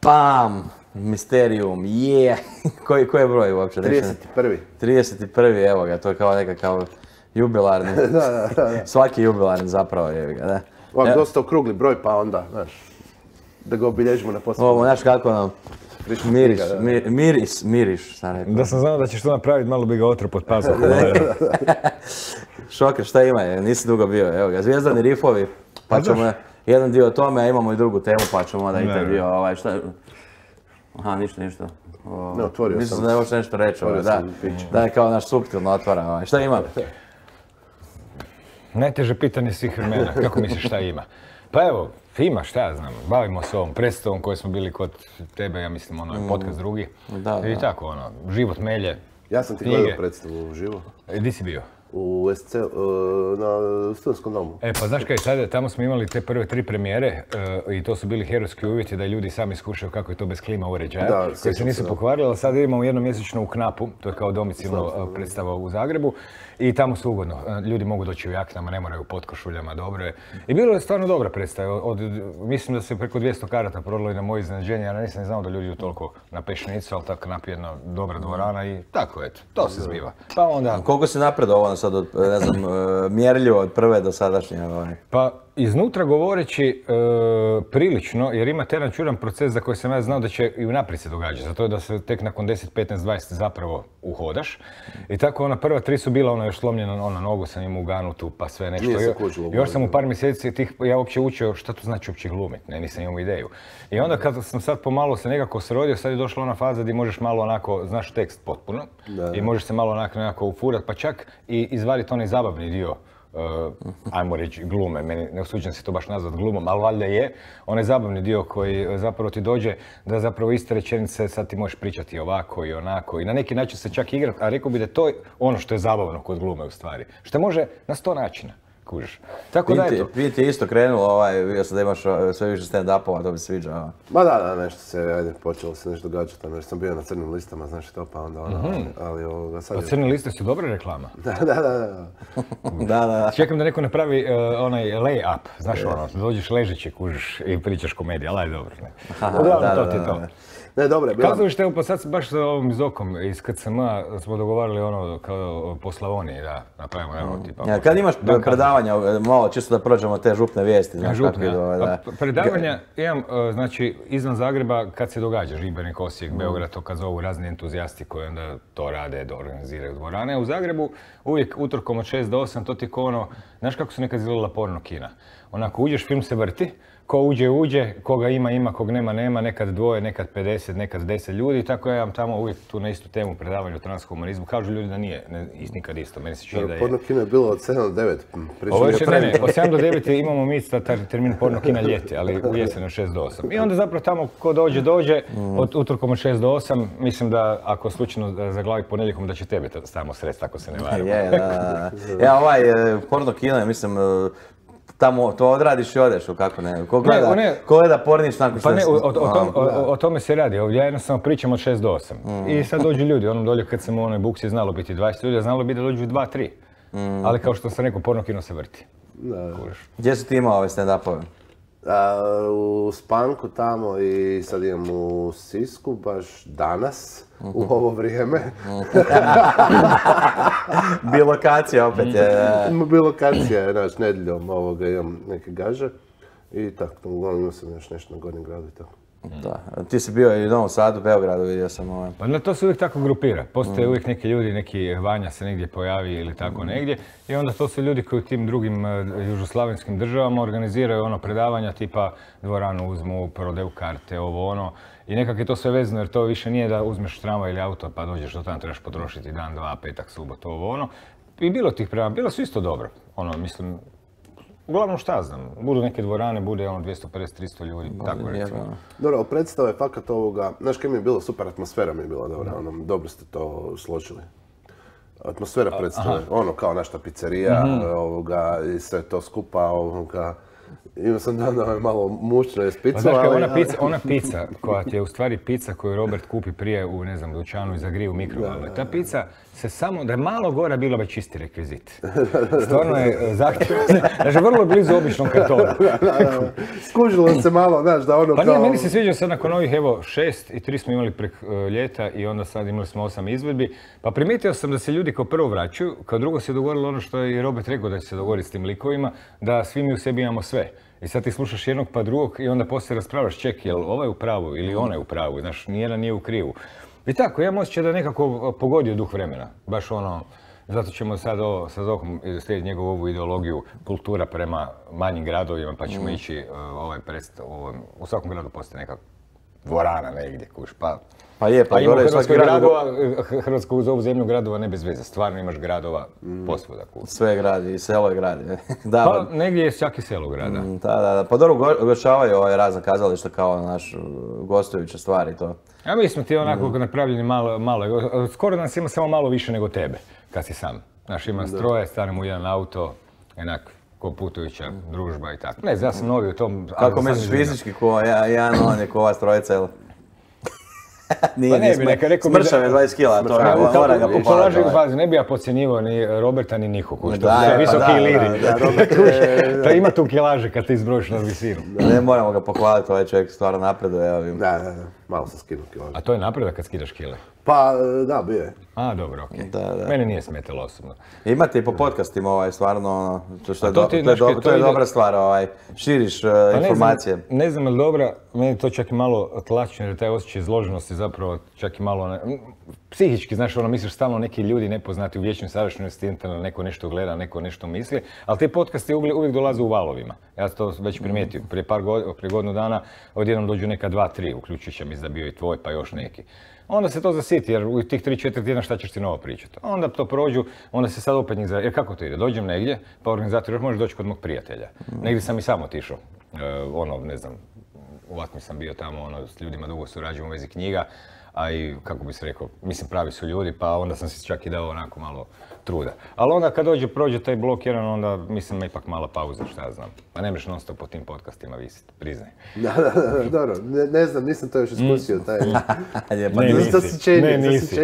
Bam! Misterium, Koji je broj uopće? 31. 31. Evo ga, to je kao nekakav jubilarni. Da. Svaki jubilarni zapravo je ga, da. Ovak dosta okrugli broj, pa onda, znaš, da ga obilježimo na posljednju. Ovo, znaš kako nam miriš, sam rekao. Da sam znao da ćeš to napraviti, malo bi ga otro pod pazom. Šoker, šta ima? Nisi dugo bio, evo ga, Zvijezdani rifovi, pa ćemo jedan dio o tome, a imamo i drugu temu, pa ćemo onda i taj dio, šta... Aha, ništa. Ne, otvorio sam. Mislim da je još nešto reći, da je kao naš suptilno otvara, šta ima? Najteže pitanje svih vremena, kako misliš šta ima? Pa evo, ima, šta ja znam, bavimo se ovom predstavom koji smo bili kod tebe, ja mislim, podcast drugi. I tako, život melje, ja sam ti gledao predstavu uživo. Gdje si bio? U SC, na Studentskom domu. Pa znaš kaj, sad tamo smo imali te prve 3 premijere i to su bili herojski uvjeti da ljudi sami iskušaju kako je to bez klima uređaja, koji se nisu pokvarili, ali sad idemo jednomjesečno u Knapu, to je kao domicilno predstava u Zagrebu i tamo su ugodno. Ljudi mogu doći u jaknama, ne moraju u potkošuljama, dobro je. I bilo je stvarno dobra predstava, mislim da se preko 200 karata prodalo i na moje iznenađenje, ja nisam znao da ljudi idu toliko na Pešnicu, ali tako Knap je jedna dobra dvorana i tako, eto, to se zbiva. Pa onda... Koliko si napredovao sad od, ne znam, mjerljivo od prve do sadašnje? Pa iznutra govoreći prilično, jer ima jedan čudan proces za koji sam ja znao da će i unaprijed se događati. Zato je da se tek nakon 10, 15, 20 zapravo uhodaš. I tako ona prva 3 su bila još slomljena nogu sam imao uganutu pa sve nešto. Još sam u par mjeseci ja uopće učio šta to znači uopće glumit, nisam imao ideju. I onda kad sam sad pomalo se nekako srodio, sad je došla ona faza gdje možeš malo onako, znaš tekst potpuno i možeš se malo nekako ufurat pa čak i izvaditi onaj zabavni dio. Ajmo reći glume, meni ne usuđujem se to baš nazvat glumom, ali valjda je onaj zabavni dio koji zapravo ti dođe da zapravo iste rečenice sad ti možeš pričati ovako i onako i na neki način se čak igrat, a rekao bi da je to ono što je zabavno kod glume u stvari, što može na 100 načina. Kužiš. Tako da eto. Prije ti je isto krenulo, vidio sam da imaš sve više stand-upova, to bi sviđa. Ma da, nešto se, počelo se nešto događati, jer sam bio na crnim listama, znaš to, pa onda ali sad je... Pa crne liste su dobra reklama. Da. Čekam da neko napravi onaj lay-up, znaš dođeš ležeći, kužiš i pričaš komediju, ali dobro, ne. Uglavnom, to ti je to. Ne, dobro je bilo. Kazalište, evo pa sad baš sa ovim Zokom iz KCM-a smo dogovarali kao po Slavoniji da napravimo tipa... Kad imaš predavanja, malo čisto da prođemo te župne vijesti. Predavanja imam, znači, izvan Zagreba kad se događa, Žibernik, Osijek, Beograd, to kad zovu razni entuzijasti koji onda to rade, da organiziraju dvorane. U Zagrebu uvijek utorkom od 6 do 8, to ti ko ono, znaš kako su nekad izgledala porno kina? Onako, uđeš, film se vrti, ko uđe, koga ima, kog nema, nekad 2, nekad 50, nekad 10 ljudi, tako ja imam tamo uvijek tu na istu temu predavanje o transhumanizmu. Kažu ljudi da nije nikad isto, meni se čini da je... Porno kino je bilo od 7 do 9. Od 7 do 9 imamo mi termin porno kina ljeti, ali u jesenu 6 do 8. I onda zapravo tamo ko dođe, od utorkom od 6 do 8, mislim da ako slučajno zaglavi ponedjeljkom da će tebe tamo sredst, ako se ne varam. Porno kino je, mislim, tamo to odradiš i odeš, kako ne? Ko gleda pornić nakon što... Pa ne, o tome se radi. Ovdje ja jednostavno pričam od 6 do 8. I sad dođu ljudi, onom dolje kad sam u onoj buksi je znalo biti 20 ljudi, a znalo bi da dođu 2, 3. Ali kao što sam rekao, porno kino se vrti. Gdje su ti imao ove stand-upove? U Spanku tamo i sad idem u Sisku, baš danas, u ovo vrijeme. Bilokacija opet je. Bilokacija je, znaš, nedjeljom imam neke gaže i tako, uglavnom imao sam još nešto na Gornjem gradu i tako. Da, ti si bio i u Novom Sadu, Beogradu, vidio sam Pa to se uvijek tako grupira. Postoje uvijek neki ljudi, neki Vanja se negdje pojavi ili tako negdje i onda to su ljudi koji u tim drugim južoslavenskim državama organiziraju predavanja tipa dvoranu uzmu, prodaju karte, ovo ono. I nekak je to sve vezano jer to više nije da uzmeš tramvaj ili auto pa dođeš do tamo, trebaš potrošiti dan, dva, petak, subot, ovo ono. I bilo tih predavanja, bilo su isto dobro. Mislim, uglavnom šta znam, budu neke dvorane, bude 250-300 ljudi, tako recimo. Dobro, predstava je fakat ovoga, znaš kaj mi je bilo, super atmosfera mi je bila dobra, dobro ste to složili. Atmosfera predstave, kao našta pizzerija, i sve to skupa, Imao sam dan malo mušno je spicu, Pa znaš kaj, ona pizza koja ti je u stvari pizza koju Robert kupi prije u, ne znam, dućanu i zagrije u mikrovalnoj. Ta pizza se samo, da je malo gora bila već čisti rekvizit. Stvarno je zahtjevno, znači vrlo blizu običnom kartonu. Skužilo se malo, znaš, da ono Pa kao... nije, meni se sviđa sad nakon ovih, evo, 6 i 3 smo imali prek ljeta i onda sad imali smo 8 izvedbi. Pa primijetio sam da se ljudi kao prvo vraćaju, kao drugo se dogodilo ono što je i Robert rekao da će se dogoditi s tim likovima, da svi mi u sebi imamo sve. I sad ti slušaš jednog pa drugog i onda poslije raspravljaš, ček, jel ovaj u pravu ili ona je u pravu, znaš, nijedan nije u krivu. I tako, ja osjećam da je nekako pogodio duh vremena, baš ono, zato ćemo sad ovo, sa Zohom slijediti njegovu ovu ideologiju kultura prema manjim gradovima, pa ćemo ići u svakom gradu postoji neka dvorana negdje, kuš, Pa je, pa ima gore Hrvatskoj svaki grad... gradova, Hrvatsku zovu zemlju gradova ne bez veze, stvarno imaš gradova posvuda, kuš. Sve gradi, i selo je gradi. Da, Pa negdje je čak i selo grada. da. Pa dobro, ugošćavaju razna kazališta kao naš gostujuće stvari to. A mi smo ti onako napravljeni malo, skoro nas ima samo malo više nego tebe, kad si sam. Znaš, ima stroje, stanemo u jedan auto, enak, ko putujuća družba i tako. Ne znam, ja sam novi u tom... Kako misliš fizički, jedan on je ko ova strojica, jel? Nije, smršav je 20 kila, to mora ga pohvaliti. Ne bi ja podcjenjivao ni Roberta ni Niku, što je visoki liri. To ima tu kilaže kad ti izbrojiš na visinu. Ne moramo ga pohvaliti, ovaj čovjek stvarno napreduje. Da, malo sam skinuo kilaže. A to je napredak kad skidaš kile? Pa, da, bio je. A, dobro, okej. Mene nije smetalo osobno. Imate i po podcastima stvarno, to je dobra stvar, širiš informacije. Ne znam je li dobra, meni to čak i malo tlačno jer taj osjećaj izloženosti zapravo čak i malo, psihički, znaš, misliš stalno neki ljudi nepoznati u vječnoj sadašnjosti, neko nešto gleda, neko nešto misli, ali te podcasti uvijek dolaze u valovima. Ja sam to već primijetio, prije godinu dana odjednom dođu neka 2-3, uključujući mislim da bio i tvoj pa još neki. Onda se to zasiti jer u tih 3-4 tjedna šta ćeš ti novo pričati. Onda to prođu, onda se sad opet njih jer kako to ide? Dođem negdje, pa organizator još možeš doći kod mog prijatelja. Negdje sam i sam otišao, ne znam, u Atmi sam bio tamo, s ljudima dugo surađujem u vezi knjiga, a i, kako bi se rekao, mislim pravi su ljudi, pa onda sam si čak i dao onako malo truda. Ali onda kad prođe taj blok jedan, onda mislim ipak mala pauza, šta ja znam. Pa ne mreš non stop po tim podcastima visiti, priznaj. Da, dobro, ne znam, nisam to još iskusio, taj... Ne, nisi.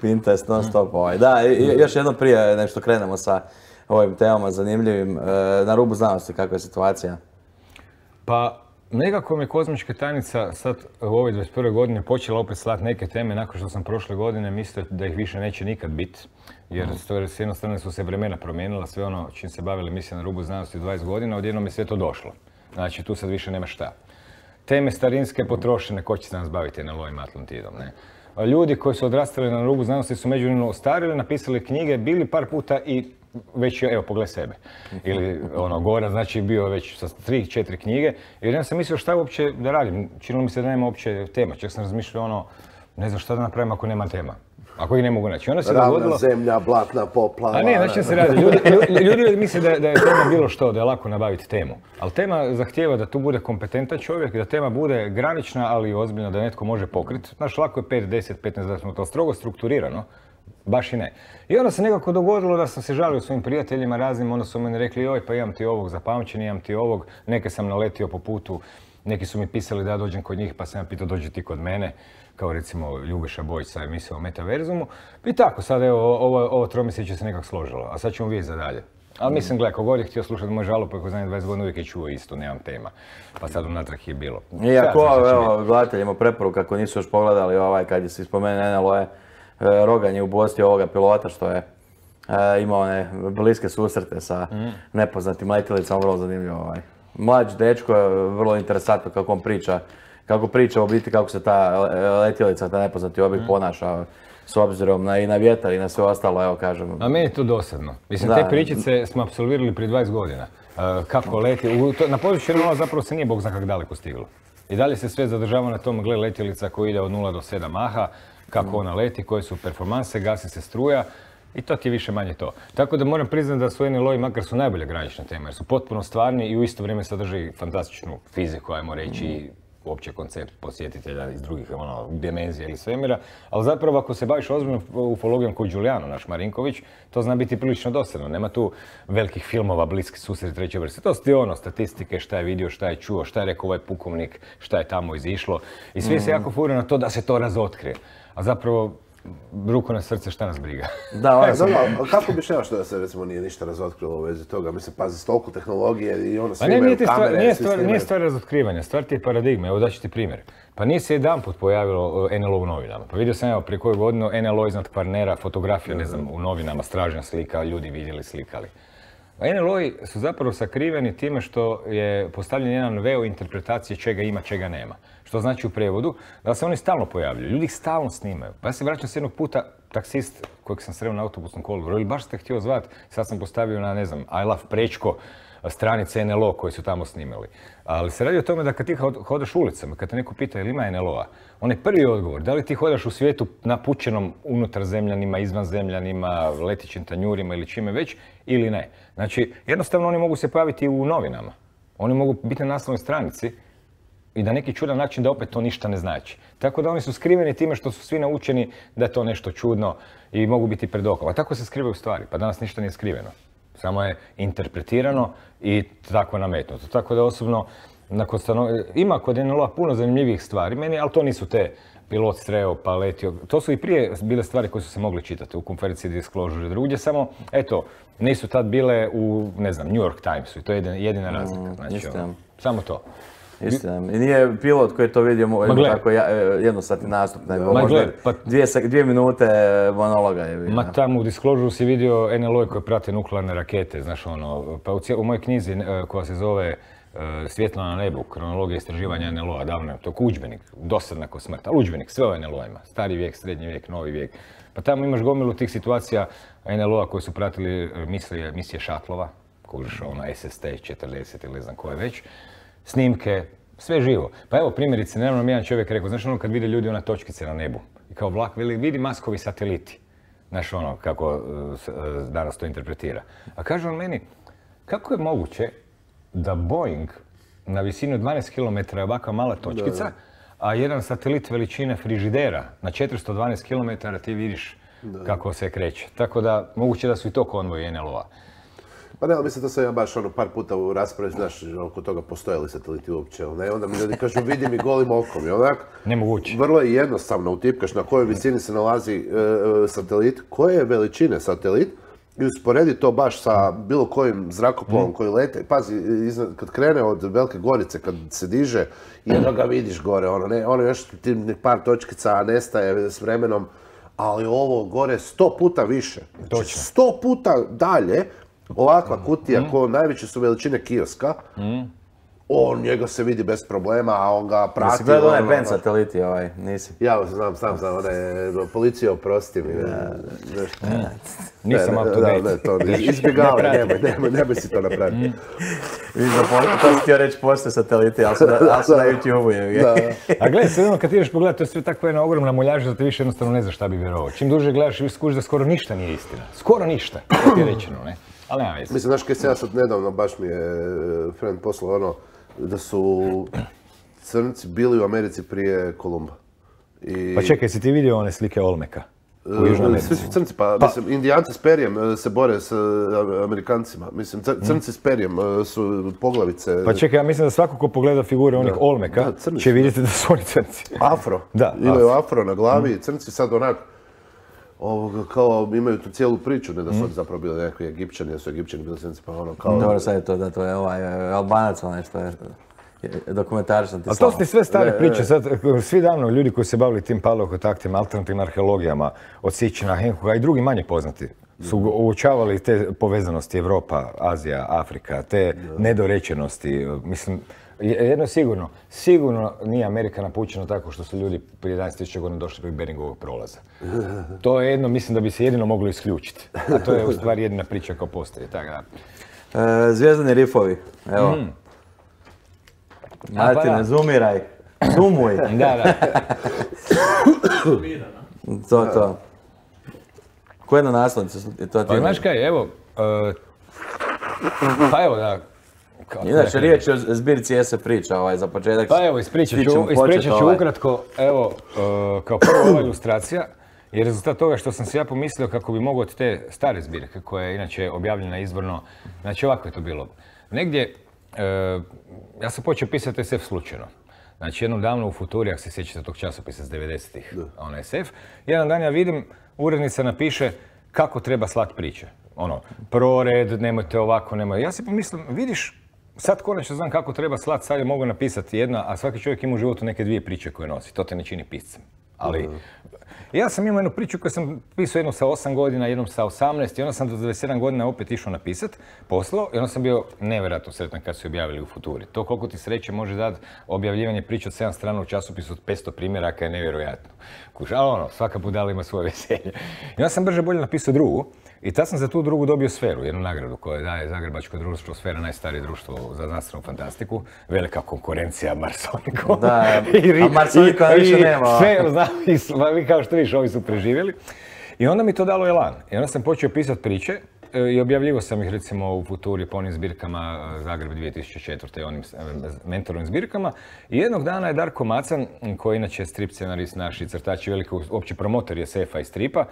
Pinterest non stop ovaj. Da, još jedno prije nešto krenemo sa ovim temama zanimljivim. Na rubu znanosti, kakva je situacija? Pa, nekako mi je kozmička tajnica sad u ovoj 21. godine počela opet slati neke teme nakon što sam prošle godine mislio da ih više neće nikad biti. Jer s jedne strane su se vremena promijenila, sve ono čim se bavili emisija na rubu znanosti 20 godina, odjednom je sve to došlo. Znači tu sad više nema šta. Teme starinske potrošene, ko će se nas baviti NLO-im Atlantidom, ne? Ljudi koji su odrastali na rubu znanosti su međuvremeno ostarili, napisali knjige, bili par puta i već, evo, pogledaj sebe. Ili Goran, znači bio već sa 3-4 knjige. Jer ja sam mislio šta uopće da radim. Činilo mi se da nema uopće tema. Čak sam razmišljao ne znam šta da napravim ako nema tema. Ako ih ne mogu naći. Ravna zemlja, blatna poplava. A ne, znači čem se radi. Ljudi misle da je tema bilo što, da je lako nabaviti temu. Ali tema zahtijeva da tu bude kompetentan čovjek, da tema bude granična, ali i ozbiljna, da netko može pokriti. Znaš, lako je 5, 10, 15 minuta, strogo strukturirano. Baš i ne. I onda se nekako dogodilo da sam se žalio svojim prijateljima raznim, onda su meni rekli joj pa imam ti ovog za pamćenje, imam ti ovog, neke sam naletio po putu, neki su mi pisali da ja dođem kod njih pa sam ja pitao dođi ti kod mene, kao recimo Ljubiša Bojić sa emisijom o Metaverzumu. I tako, sad evo, ovo tromjesečje se nekako složilo, a sad ćemo vidjeti za dalje. Ali mislim, gledaj, kogod je htio slušati moj žalop, ako zadnjih 20 godina uvijek je čuo isto, nemam tema. Pa sad unatrag je bilo. Iako, evo, gledateljima preporuka ako nisu još pogledali kad se spomene NLO Rogan je ugostio ovoga pilota što je imao one bliske susrete sa nepoznatim letjelicama, vrlo zanimljivo. Mlađ dečko je vrlo interesantno kako priča u biti kako se ta letjelica, ta nepoznati objekt ponaša s obzirom i na vjetar i na sve ostalo, evo kažem. A meni je to dosadno. Mislim, te pričice smo apsolvirali prije 20 godina. Kako leti, na području NLO zapravo se nije bog zna kako daleko stiglo. I dalje se sve zadržava na tom, gle, letjelica koja ide od 0 do 7 maha, kako ona leti, koje su performanse, gasi se struja i to ti je više manje to. Tako da moram priznati da su NLO-i makar su najbolje granične teme jer su potpuno stvarni i u isto vrijeme sadrži fantastičnu fiziku, ajmo reći, uopće koncept posjetitelja iz drugih dimenzija ili svemira, ali zapravo ako se baviš ozbiljno ufologijom kao Giuliano, naš Marinković, to zna biti prilično dosadno. Nema tu velikih filmova, bliski susret treće vrste. To su ti statistike, šta je vidio, šta je čuo, šta je rekao ovaj pukovnik, šta je tamo izišlo. I svi se jako furaju na to da se to razotkrije. A zapravo, ruku na srce, šta nas briga. Da, kako bi šeo što da se recimo nije ništa razotkrilo u vezi toga? Mislim, pazi, toliko tehnologije i ono svi imaju kamere, svi snimaju. Nije stvar razotkrivanja, stvar ti je paradigma. Evo daću ti primjer. Pa nije se jedanput pojavilo NLO u novinama. Pa vidio sam prije koju godinu NLO iznad Kvarnera, fotografija, ne znam, u novinama, stražnja slika, ljudi vidjeli, slikali. NLO-i su zapravo sakriveni time što je postavljen jedan veo interpretacije čega ima, čega nema. Što znači u prevodu da se oni stalno pojavljuju, ljudi ih stalno snimaju. Pa ja se vraćam s jednog puta, taksist kojeg sam sreo na autobusnom kolodvoru, ili baš ste htio zvat, sad sam postavio na, ne znam, I Love Prečko, stranice NLO koji su tamo snimali. Ali se radi o tome da kad ti hodaš ulicama, kad te neko pita ili ima NLO-a, on je prvi odgovor, da li ti hodaš u svijetu napučenom unutrarzemljanima, izvanzemljanima, letićim tanjurima ili čime već, ili ne. Znači, jednostavno oni mogu se pojaviti u novinama. Oni mogu biti na naslovnoj stranici i na neki čudan način da opet to ništa ne znači. Tako da oni su skriveni time što su svi naučeni da je to nešto čudno i mogu biti pred okom. A tako se skrivaju stvari, pa danas ništa nije skriveno. Samo je interpretirano i tako nametnuto. Tako da osobno, ima kod NLO-a puno zanimljivih stvari meni, ali to nisu te pilot sreo, pa letio. To su i prije bile stvari koje su se mogle čitati u konferenciji Disclosure i drugdje, samo, eto, nisu tad bile u, ne znam, New York Timesu i to je jedina razlika. Znači, samo to. Istina. I nije pilot koji je to vidio tako jednosatni nastup, nego možda 2 minute monologa je vidio. Ma tamo u Disclosure si vidio NLO koje prate nuklearne rakete, znaš ono, pa u mojoj knjizi koja se zove Svjetlo na nebu, kronologija istraživanja NLO-a, davno je to udžbenik, dosadna ko smrt, ali udžbenik, sve o NLO-ima, stari vijek, srednji vijek, novi vijek. Pa tamo imaš gomilu tih situacija NLO-a koji su pratili misije šatlova, kužiš ono SST 40 ili ne znam koje već, snimke, sve živo. Pa evo primjerice, nedavno mi jedan čovjek rekao, znaš ono kad vide ljudi ona točkice na nebu i kao vlak, vidi Maskovi sateliti. Znaš ono kako danas to interpretira. A kaže on meni, kako je moguće da Boeing na visini od 12 km je ovakva mala točkica, a jedan satelit veličine frižidera na 412 km ti vidiš kako se kreće. Tako da moguće da su i to konvoji NLO-a. Pa ne, ali mislim da sam ja baš par puta u raspravi, znaš, oko toga postoje li sateliti uopće, ne? Onda mi ljudi kažu vidi mi golim okom i onak. Nemoguće. Vrlo je jednostavno utipkaš na kojoj visini se nalazi satelit, koje je veličine satelit i usporedi to baš sa bilo kojim zrakoplovom koji lete. Pazi, kad krene od Velike Gorice, kad se diže, jedno ga vidiš gore, ono još par točkica nestaje s vremenom, ali ovo gore 100 puta više. Točno. 100 puta dalje. Ovakva kutija, najveće su veličine kioska, njega se vidi bez problema, a on ga prati. Jesi gledao onaj band sateliti nisi? Ja znam, policija oprosti mi. Nisam up to date. Izbjegavaj, nemoj si to napraviti. To si htio reći postoje sateliti, ali su na YouTube-u. A gledaj, sve jedno kad ti ideš pogledati, to je sve tako jedna ogromna muljaža da ti više jednostavno ne znaš šta bi vjerovao. Čim duže gledaš, skužiš da skoro ništa nije istina. Skoro ništa, kako ti je rečeno, ne? Ali nema veze. Mislim, znaš kaj se ja sad nedavno, baš mi je friend poslao da su crnci bili u Americi prije Kolumba. Pa čekaj, si ti vidio one slike Olmeka u Južnoj Americi? Svi su crnci, pa mislim, Indijanci s perijem se bore s Amerikancima. Mislim, crnci s perijem su poglavice. Pa čekaj, ja mislim da svako ko pogleda figure onih Olmeka će vidjeti da su oni crnci. Afro. Da. Imaju afro na glavi, crnci sad onak, kao imaju tu cijelu priču, ne da su oni zapravo bili nekakvi Egipćani, da su Egipćani bili crnci, pa ono kao... Dobro, sad je to da to je Albanac, nešto je dokumentarično ti ali to su ti sve stare priče, sad svi davno ljudi koji se bavili tim paleokontaktima, alternativnim arheologijama, od Sićina, Henkoga i drugi manje poznati, su uočavali te povezanosti Evropa, Azija, Afrika, te nedorečenosti, mislim, jedno je sigurno nije Amerika napućena tako što su ljudi prije 11.000 godina došli preko Beringovog prolaza. To je jedno, mislim da bi se jedino moglo isključiti. A to je u stvari jedina priča kao postoji. Zvijezdani rifovi, evo. Martine, zoomiraj. Zoomuj. Da. To. Ko je na naslovnici? Pa znaš kaj, evo, Inače, riječ je o zbirci SF priča, za početak. Pa evo, ispričat ću ukratko, evo, kao prvo ova ilustracija je rezultat toga što sam si ja pomislio kako bi mogao od te stare zbirke, koja je inače objavljena izvorno, znači ovako je to bilo. Negdje, ja sam počeo pisati SF slučajno. Znači, jednom davno u Futuri, ako se sjećate tog časopisa s 90-ih, SF, jedan dan ja vidim, urednica napiše kako treba slati priče. Prored, nemojte ovako, nemojte. Ja si pomislim, vidiš, sad konačno znam kako treba slati, sad je mogu napisati jedna, a svaki čovjek ima u životu neke dvije priče koje nosi. To te ne čini piscem. Ali, ja sam imao jednu priču koju sam pisao jednu sa 8 godina, jednom sa 18 i onda sam do 27 godina opet išao napisat, poslao i onda sam bio nevjerojatno sretan kad su objavili u Futuri. To koliko ti sreće može dati objavljivanje priče od 7 strana u časopisu od 500 primjeraka je nevjerojatno. Ali svaka budala ima svoje veselje. I onda sam brže bolje napisao drugu i tad sam za tu drugu dobio Sferu, jednu nagradu koju daje Zagrebačko društvo Sfera, najstarije društvo za znanstvenu fantastiku. Velika konkurencija Marsoniku. Da, a Marsonika više nema. Vi kao što vidiš, ovi su preživjeli. I onda mi to dalo elan. I onda sam počeo pisati priče i objavljivo sam ih recimo u Futuri po onim zbirkama Zagreb 2004. onim mentorovim zbirkama. I jednog dana je Darko Macan, koji inače je strip scenarist naš i crtač i veliki opći promotor SF-a i stripa,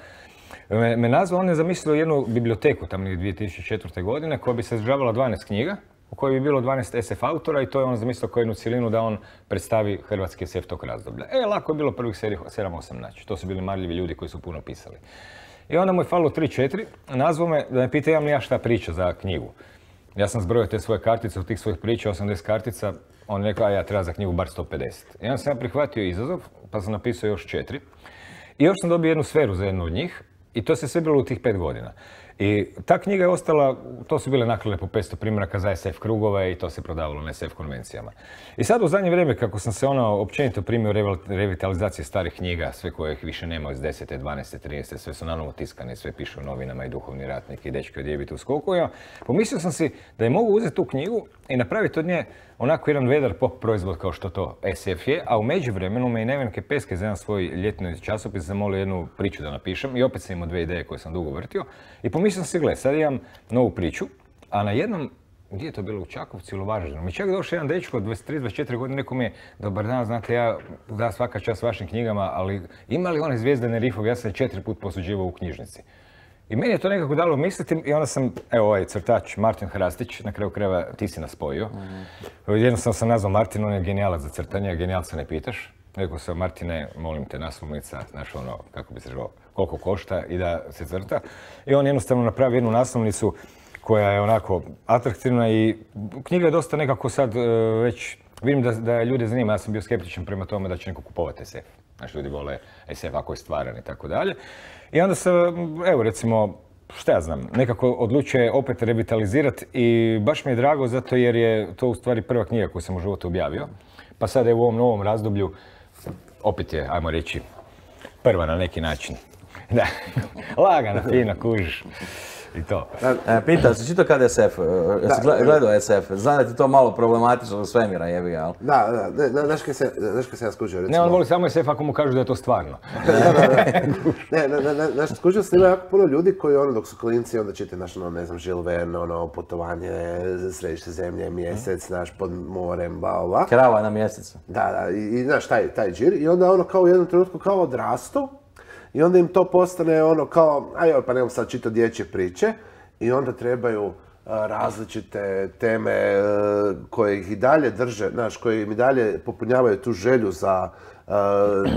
me nazvao, on je zamislio jednu biblioteku tamo 2004. godine koja bi se sadržavala 12 knjiga, u kojoj bi bilo 12 SF autora i to je on zamislio kao jednu cjelinu da on predstavi hrvatski SF tog razdoblja. Lako je bilo prvih 7-8 naći. To su bili marljivi ljudi koji su puno pisali. I onda mu je falilo 3-4, nazvao me da me pita imam li ja šta priča za knjigu. Ja sam zbrojio te svoje kartice, od tih svojih priča, 80 kartica, on je rekao, a ja treba za knjigu bar 150. I onda sam ja prihvatio izazov, pa sam napisao još 4. I još sam dobio jednu Sferu za jednu od njih i to se sve bilo u tih 5 godina. I ta knjiga je ostala, to su bile naklade po 500 primjeraka za SF krugove i to se prodavalo na SF konvencijama. I sad u zadnje vrijeme, kako sam se općenito primio revitalizacije starih knjiga, sve koje ih više nema iz 10., 12., 13., sve su nanovo tiskane, sve pišu u novinama i Duhovni ratnik i Dečki od jebite u skokovima, pomislio sam si da je mogu uzeti tu knjigu i napraviti od nje onako jedan vedar pop proizvod kao što to SF je, a u međuvremenu me i Nevenke Peske za jedan svoj ljetni časopis zamolio jednu priču da napišem i opet sam imao 2 ideje koje sam dugo vrtio i pomislio sam si, gle, sad imam novu priču, a na jednom, gdje je to bilo, u Čakovcu ili u Varaždinu, mi čak došao jedan dečko od 23-24 godine, rekao mi je, dobar dan, znate, ja da svaka čast vašim knjigama, ali ima li one Zvijezdane rifove, ja sam 4 puta posuđivao u knjižnici. I meni je to nekako dalo misliti i onda sam, evo ovaj crtač Martin Hrastić, na kraju krajeva ti si nas spojio. Jednostavno sam nazvao Martin, on je genijalac za crtanje, genijalca ne pitaš. Rekao sam, Martine, molim te, naslovnica, znaš kako bi se rekao, koliko košta i da se crta. I on jednostavno napravi jednu naslovnicu koja je onako atraktivna i knjiga je dosta nekako sad već, vidim da ljude zanima, ja sam bio skeptičan prema tome da će neko kupovati SF. Znači, ljudi vole SF ako je stvaran i tako dalje. I onda se, evo recimo, šta ja znam, nekako odlučuje opet revitalizirati i baš mi je drago zato jer je to u stvari prva knjiga koju sam u životu objavio. Pa sad je u ovom novom razdoblju, opet je, ajmo reći, prva na neki način. Da, lagana, fina, kužiš. I to. Pitao si, čito kad SF, jesi gledao SF, znam da ti to malo problematično od svemira jebi, ali... Da, znaš kaj se ja skužio, recimo... Ne, on voli samo SF ako mu kažu da je to stvarno. Znaš, skužio sam, ima jako puno ljudi koji dok su klinci, onda čite, znaš, ne znam, Žil Verne, putovanje, središte zemlje, mjesec, znaš, pod morem, bla. Krava na mjesecu. Da, i znaš, taj džir, i onda kao u jednom trenutku kao odrastu, i onda im to postane kao, pa nemam sad čitati dječje priče i onda trebaju različite teme koje ih i dalje drže, znaš, koje im i dalje popunjavaju tu želju za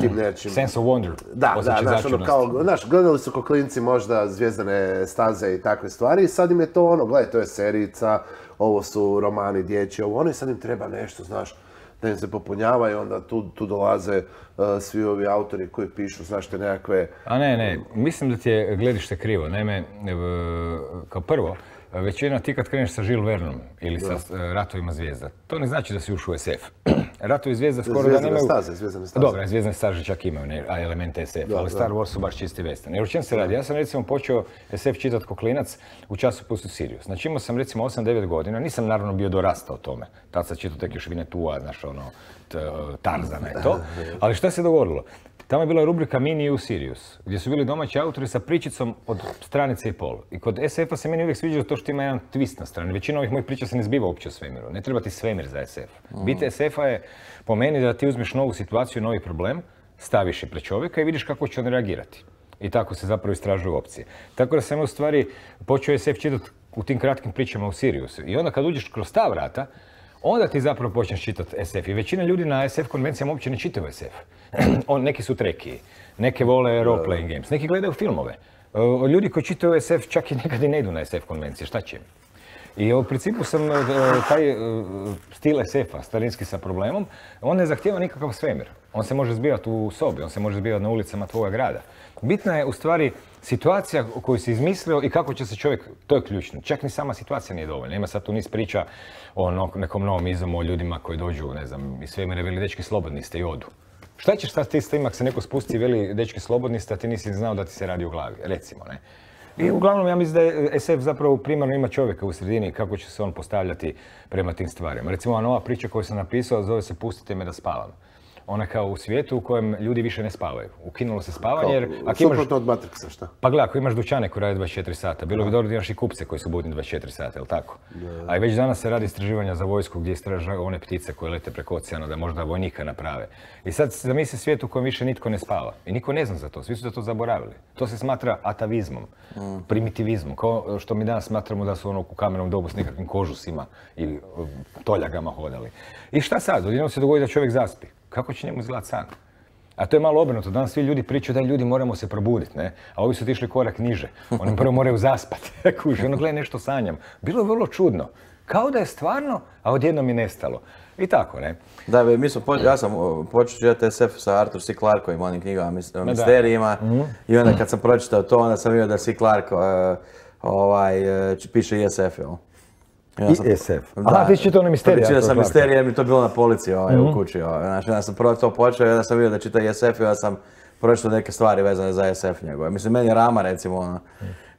tim nečim... Sense of wonder. Da, znaš, gledali su ko klinci možda Zvijezdane staze i takve stvari i sad im je to gledaj, to je serijica, ovo su romani dječji, i sad im treba nešto, znaš, da im se popunjava i onda tu dolaze svi ovi autori koji pišu, znaš, te nekakve... A ne, mislim da ti je gledište krivo. Naime, kao prvo, većina ti kad kreneš sa Žil Vernom ili sa Ratovima zvijezda, to ne znači da si ušao u SF. Ratovi zvijezda skoro da nemaju... Zvijezdane staze. Dobro, Zvijezdane staze čak imaju elemente SF, ali Star Wars su baš čisti western. Jer o čem se radi? Ja sam recimo počeo SF čitati ko klinac u časopisu Sirius. Znači imao sam recimo 8-9 godina, nisam naravno bio dorastao tome. Tad sam čitao tek još Vinetua, znaš Tarzana i to. Ali šta se dogodilo? tamo je bila rubrika Mini U Sirius, gdje su bili domaći autori sa pričicom od stranice i pol. I kod SF-a se meni uvijek sviđa to što ima jedan twist na strani. Većina ovih mojih priča se ne zbiva uopće o svemiru. Ne treba ti svemir za SF. Bit SF-a je po meni da ti uzmeš novu situaciju, novi problem, staviš je pred čovjeka i vidiš kako će on reagirati. I tako se zapravo istražuju opcije. Tako da sam u stvari počeo SF čitati u tim kratkim pričama u Siriusu. I onda kad uđeš kroz ta vrata, onda ti zapravo počneš čitati SF. I većina ljudi na SF konvencijama uopće ne čitaju SF. Neki su trekiji, neke vole role-playing games, neki gledaju filmove. Ljudi koji čitaju SF čak i nekad i ne idu na SF konvencije, šta će im? I u principu sam taj stil SF-a, starinski sa problemom, on ne zahtijeva nikakav svemir. On se može zbivati u sobi, on se može zbivati na ulicama tvoga grada. Bitna je u stvari situacija koju si izmislio i kako će se čovjek, to je ključno. Čak ni sama situacija nije dovoljna. Ima sad tu niz priča o nekom novom izumu, o ljudima koji dođu, ne znam, iz svemira veli dečki slobodni ste i odu. Šta ćeš sad ti s tim ako se neko spusti i veli dečki slobodni ste, a ti nisi znao da ti se radi u glavi, recimo, ne? I uglavnom ja mislim da je SF zapravo primarno ima čovjeka u sredini kako će se on postavljati prema tim stvarima. Recimo ova nova priča koju sam napisao zove se Pustite me da spavam. Ona kao u svijetu u kojem ljudi više ne spavaju. Ukinulo se spavanje jer... Suprotno od Matrixa, šta? Pa gledaj, ako imaš dućane koji rade 24 sata, bilo bi dobro da imaš i kupce koji su budni 24 sata, jel tako? A i već danas se radi istraživanja za vojsku gdje istražuju one ptice koje lete preko oceana da možda vojnika naprave. I sad zamisli svijet u kojem više nitko ne spava. I niko ne zna za to, svi su da to zaboravili. To se smatra atavizmom, primitivizmom, kao što mi danas smatramo da su ono u kamenom dobu s nekakvim kožusima i toljagama hodali. I šta sad? Odjednom se dogodi da čovjek zaspi. Kako će njemu izgledati san? A to je malo obrnuto. Danas svi ljudi pričaju da ljudi moramo se probuditi, ne? A ovi su otišli korak niže. Oni prvo moraju zaspati. Kuži, ono gledaj nešto sanjam. Bilo je vrlo čudno. Kao da je stvarno, a odjednom je nestalo. I tako, ne? Da, ja sam počeo čitati SF sa Arthur C. Clarkovim, onim knjigama o misterijima. I onda kad sam pročitao to, onda sam vidio da C. Clark piše i SF, jel? I SF. Aha, ti si čitao one misterije. Čitao sam misterije jer mi to bilo na polici u kući. Znači, onda sam prvo to počeo i onda sam vidio da čita i SF i onda sam pročitao neke stvari vezane za SF njegove. Mislim, meni je Rama, recimo,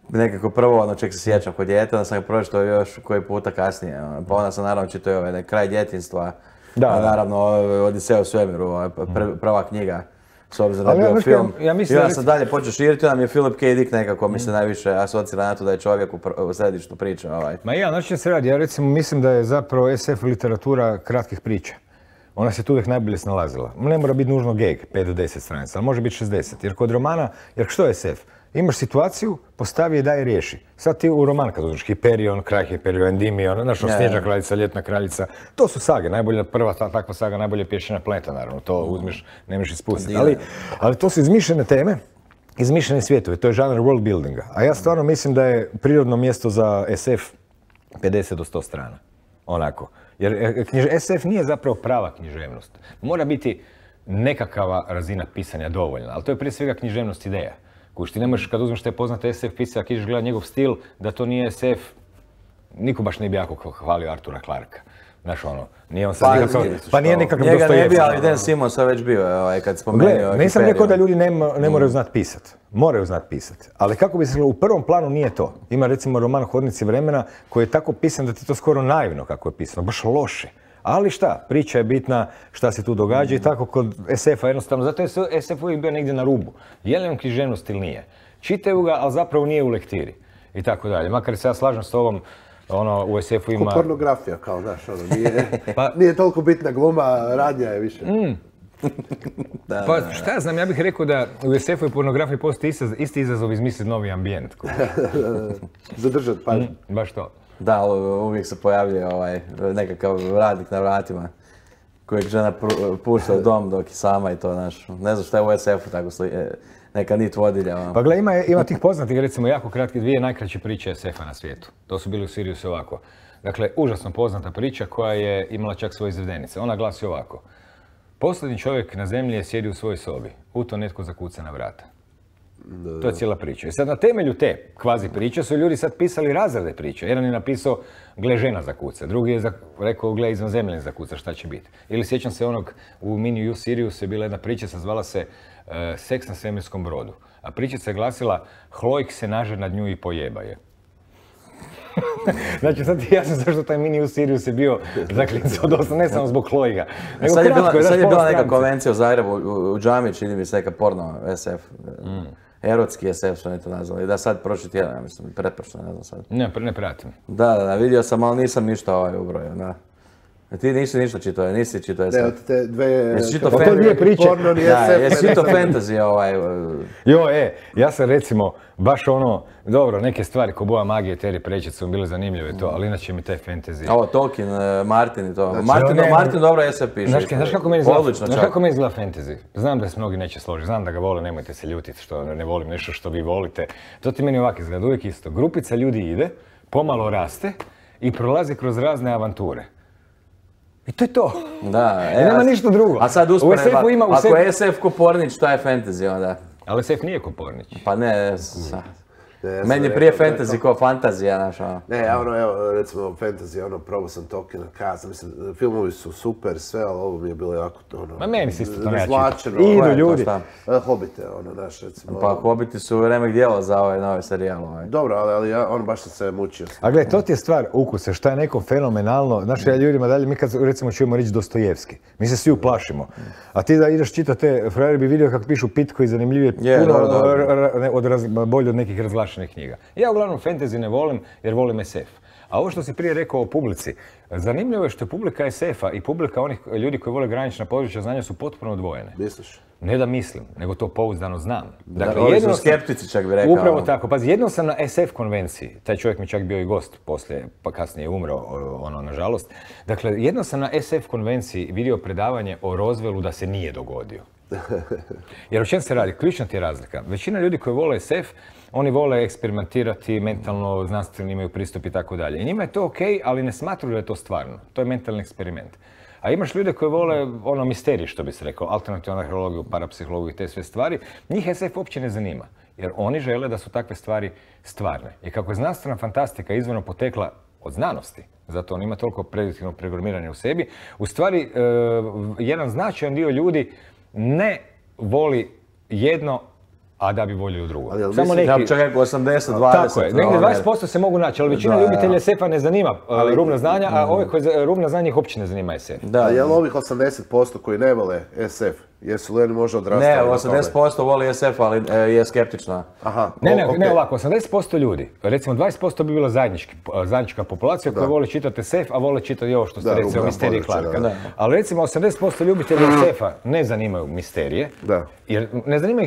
nekako prvo čeg se sjećam kod djeta, onda sam ga pročitao još koji puta kasnije. Pa onda sam naravno čitao i Kraj djetinjstva. Naravno, Odiseja u svemiru, prva knjiga. S obzirom da je bio film. I onda sam dalje počeo širiti, onda mi je Philip K. Dick nekako mi se najviše asocira na to da je čovjek u središtu priče. Ma ja, znači se radi. Ja recimo mislim da je zapravo SF literatura kratkih priča. Ona se tu uvijek najbolje snalazila. Ne mora biti nužno geg, 5 do 10 stranica, ali može biti 60. Jer kod romana, jer što je SF? Imaš situaciju, postavi je, daj i riješi. Sad ti u roman kad uzmeš Hyperion, Kraj Hyperion, Endymion, znaš, Snježna kraljica, Ljetna kraljica, to su sage, najbolja, prva takva saga, najbolje pješčana planeta, naravno, to uzmeš, ne možeš ispustiti. Ali to su izmišljene teme, izmišljene svjetove, to je žanr world buildinga. A ja stvarno mislim da je prirodno mjesto za SF 50 do 100 strana. Onako. Jer SF nije zapravo prava književnost. Mora biti nekakva razina pisanja dovoljna, ali to je prije svega književnost ideja. Kuš, ti ne možeš kad uzmeš te poznate SF pisca, ako ideš gledati njegov stil, da to nije SF, niko baš ne bi jako hvalio Artura Clarka. Znaš ono, nije on sad nikakav, pa nije nikakav Dostojevski. Njega ne bi, ali Dan Simmons je već bio kad spomenuo. Nisam rekao da ljudi ne moraju znati pisat. Moraju znati pisat. Ali kako bi se u prvom planu nije to. Ima recimo roman Hodnici vremena koji je tako pisan da ti to skoro naivno kako je pisano, baš loše. Ali šta, priča je bitna, šta se tu događa i tako kod SF-a jednostavno, zato je SF uvijek bio negdje na rubu. Je li on književnost ili nije? Čitaju ga, ali zapravo nije u lektiri. I tako dalje. Makar se ja slažem s tobom, u SF-u ima... Ko pornografija, kao, znaš, nije toliko bitna gluma, radnja je više. Pa šta ja znam, ja bih rekao da u SF-u i pornografiji postoji isti izazov izmisliti novi ambijent. Zadržat pažnju. Baš to. Da, uvijek se pojavljuje nekakav radnik na vratima kojeg žena pušta u dom dok je sama i to, znaš, ne znam šta je u SF-u tako neka nit vodilja. Pa gle, ima tih poznatih, recimo, jako kratke dvije najkraće priče SF-a na svijetu. To su bili u Siriusu ovako. Dakle, užasno poznata priča koja je imala čak svoje izvedenice. Ona glasi ovako. Posljednji čovjek na zemlji je sjedio u svojoj sobi. U to netko zakuca na vrata. To je cijela priča. I sad na temelju te kvazi priče su ljudi sad pisali razrede priče. Jedan je napisao gle žena zakuca, drugi je rekao gle izvanzemljen zakuca, šta će biti. Ili sjećam se onog u Mini U Sirius je bila jedna priča, zvala se Seks na svemirskom brodu. A pričica je glasila Hlojk se naže nad nju i pojeba je. Znači sad ti jasno zašto taj mini u Sirius je bio zaklinca od osam, ne samo zbog Chloe-ga. Sad je bila neka konvencija u Zagrebu, u džami, čini mi se neka porno SF. Erotski SF su oni to nazvali. Da, sad prošli tjedan, ja mislim, pretprošli, ne znam sad. Ne pratim. Da, vidio sam, ali nisam ništa ubrojio, da. Ti nisi ništa čitao, nisi čitao SF. Ne, od te dve... Jesi čitao to nije priče. Porno, nije Da, SF. jesi čitao fantasy Ja sam recimo, baš ono, dobro, neke stvari ko Boja magije, Terry Pratchett su bile zanimljive to, ali inače mi taj fantasy... Ovo, Tolkien, Martin i to. Znači, Martin dobro SF piše. Znaš kako meni izgleda fantasy? Znam da se mnogi neće složiti, znam da ga vole, nemojte se ljutiti što ne volim nešto što vi volite. To ti meni ovako izgleda, uvijek isto. Grupica ljudi ide, pomalo raste i prolazi kroz razne avanture. I to je to. Da, I nema ništa drugo. A sad usporedba, ako je SF ko Pornić, šta je fantasy onda? Ali SF nije ko Pornić. Pa ne, meni je prije fantasy ko fantazija, znaš ono. Ne, ja ono, evo, recimo, fantasy, probao sam Tolkiena kazati, mislim, filmovi su super, sve, ali ovo mi je bilo jako, Ma meni se isto to neće. Idu ljudi. Hobite, naš, recimo. Pa Hobiti su remek dijelo za ovaj novi serijal. Dobro, ali ja, baš sam se mučio. A gledaj, to ti je stvar ukusa, šta je neko fenomenalno, znaš, ja ljudima dalje, mi kad recimo čujemo riječ Dostojevski, mi se svi uplašimo. A ti da ideš čitati te, frajer bi vidio kako pišu pitko i zanimljivije, bolje od nekih razglašenih knjiga. Ja uglavnom fantasy ne volim jer volim SF. A ovo što si prije rekao o publici, zanimljivo je što je publika SF-a i publika onih ljudi koji vole granična područja znanja su potpuno odvojene. Misliš? Ne da mislim, nego to pouzdano znam. Dakle, oni su skeptici, čak bi rekao. Upravo tako. Pazi, jednom sam na SF konvenciji, taj čovjek mi čak bio i gost poslije, pa kasnije je umro, nažalost. Dakle, jednom sam na SF konvenciji vidio predavanje o Roswellu da se nije dogodio. Jer o čem se radi? Ključna ti je razlika. Većina ljudi koji vole SF, oni vole eksperimentirati, mentalno, znanstveno imaju pristup i tako dalje. I njima je to okej, ali ne smatruju da je to stvarno. To je mentalni eksperiment. A imaš ljude koji vole misterij, što bi se rekao, alternativnu arheologiju, parapsihologiju i te sve stvari. Njih SF uopće ne zanima, jer oni žele da su takve stvari stvarne. I kako je znanstvena fantastika izvorno potekla od znanosti, zato on ima toliko prediktivnog programiranja u sebi, u stvari jedan značajan dio ljudi ne voli jedno, a da bi voljeli drugo. Samo neki... Ja čak 80-20. Tako je, negdje 20% se mogu naći, ali većina ljubitelja SF-a ne zanima rubna znanja, a ove koje rubna znanja ih uopće ne zanima SF. A je li ovih 80% koji ne vole SF, jesu li oni možda odrastali? Ne, 80% voli SF, ali je skeptično. Ne ovako, 80% ljudi, recimo 20% bi bila zajednička populacija koja voli čitati SF, a vole čitati i ovo što ste recimo misterije Clarka. Ali recimo 80% ljubitelja SF-a ne zanimaju misterije, jer ne zanima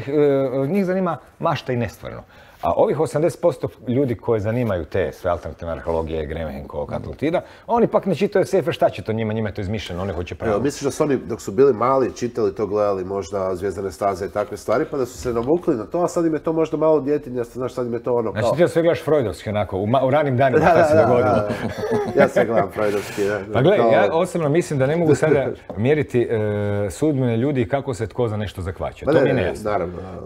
njih zanima mašta i nestvarno. A ovih 80% ljudi koje zanimaju te sve alternativne arheologije, Gremhenko, Atlantida, oni pak ne čitaju SF, šta će to njima je to izmišljeno, oni hoće pravo. Misliš da su oni, dok su bili mali, čitali to, gledali možda Zvijezdane staze i takve stvari, pa da su se navukli na to, a sad im je to možda malo djetinja, znaš, sad im je to ono kao... Znači ti da sve gledaš freudovski onako, u ranim danima šta se dogodilo. Ja sve gledam freudovski. Pa gledaj, ja osobno mislim da ne mogu sada mjeriti sudbine ljudi i kako se tko za nešto zakvaća. To mi je nejasno.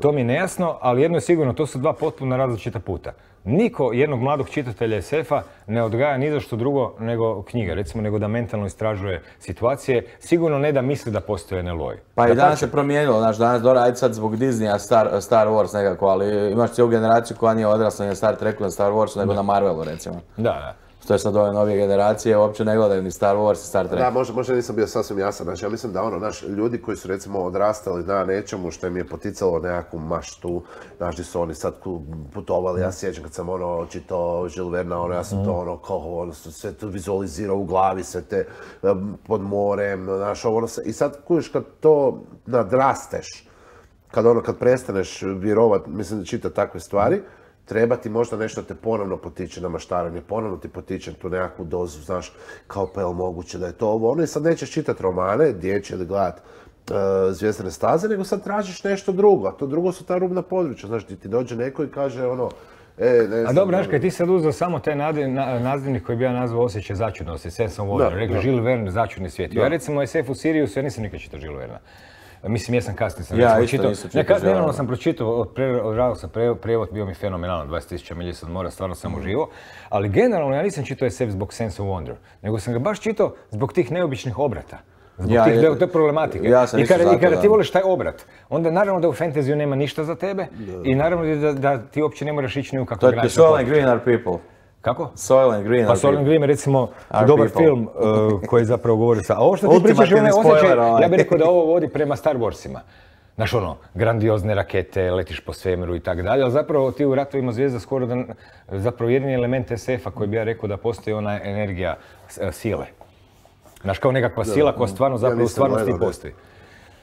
To mi je nejasno, ali jedno je sigurno, to su dva potpuno različita puta. Niko jednog mladog čitatelja SF-a ne odgaja ni za što drugo nego knjige, recimo nego da mentalno istražuje situacije, sigurno ne da misli da postoje NLO-i. Pa i danas se promijenilo, znaš, danas dobro, ajde sad zbog Disneya Star Wars nekako, ali imaš cijelu generaciju koja nije odrasla na Star Treku, na Star Warsu, nego na Marvelu, recimo. Da. Što je sad ove novije generacije, uopće ne gledaju ni Star Wars, ni Star Trek. Da, možda nisam bio sasvim jasan. Znači, ja mislim da ljudi koji su recimo odrastali na nečemu što im je poticalo nekakvu maštu, znaš, gdje su oni sad putovali, ja sjećam kad sam čitao Jules Verna, ja sam to kao sve to vizualizirao u glavi, sve te pod morem, znaš, i sad kužiš kad to nadrasteš, kad prestaneš vjerovat, mislim, čitati takve stvari, treba ti možda nešto te ponovno potiče na maštarenje, ponovno ti potiče tu nekakvu dozu, znaš, kao pa je li moguće da je to ovo. I sad nećeš čitati romane, dječje ili gledat Zvijezdane staze, nego sad tražiš nešto drugo, a to drugo su ta rubna područja, znaš, ti dođe neko i kaže a dobro, znaš, kad ti sad uzeo samo taj nazivnik koji bi ja nazvao osjećaj začudnosti, Sense of Wonder, rekli Jules Verne, začudni svijet. Ja recimo SF u Siriusu, ja nisam nikad čitao Jules Verna. Mislim, jesam kasnije sam čitao. Nedavno sam pročitao, odradio sam prijevod, bio mi fenomenalan, 20.000 milja od mora, stvarno sam uživo. Ali generalno ja nisam čitao SF zbog Sense of Wonder, nego sam ga baš čitao zbog tih neobičnih obrata. Zbog te problematike. I kada ti voliš taj obrat, onda naravno da u fantaziju nema ništa za tebe i naravno da ti uopće ne moraš ići ni u kakvu granicu. To je Green Are People. Kako? Soil and Green. Pa Soil and Green je recimo Our dobar people. film koji zapravo govori sa... A ovo što ti pričaš je onaj Ultimativni osjećaj, spoiler, ja bih rekao da ovo vodi prema Star Warsima. Znaš ono, grandiozne rakete, letiš po svemiru i tako dalje, ali zapravo ti u Ratovima zvijezda skoro da zapravo jedini element SF-a koji bi ja rekao da postoji ona energija sile. Znaš, kao nekakva sila koja stvarno zapravo u stvarnosti postoji.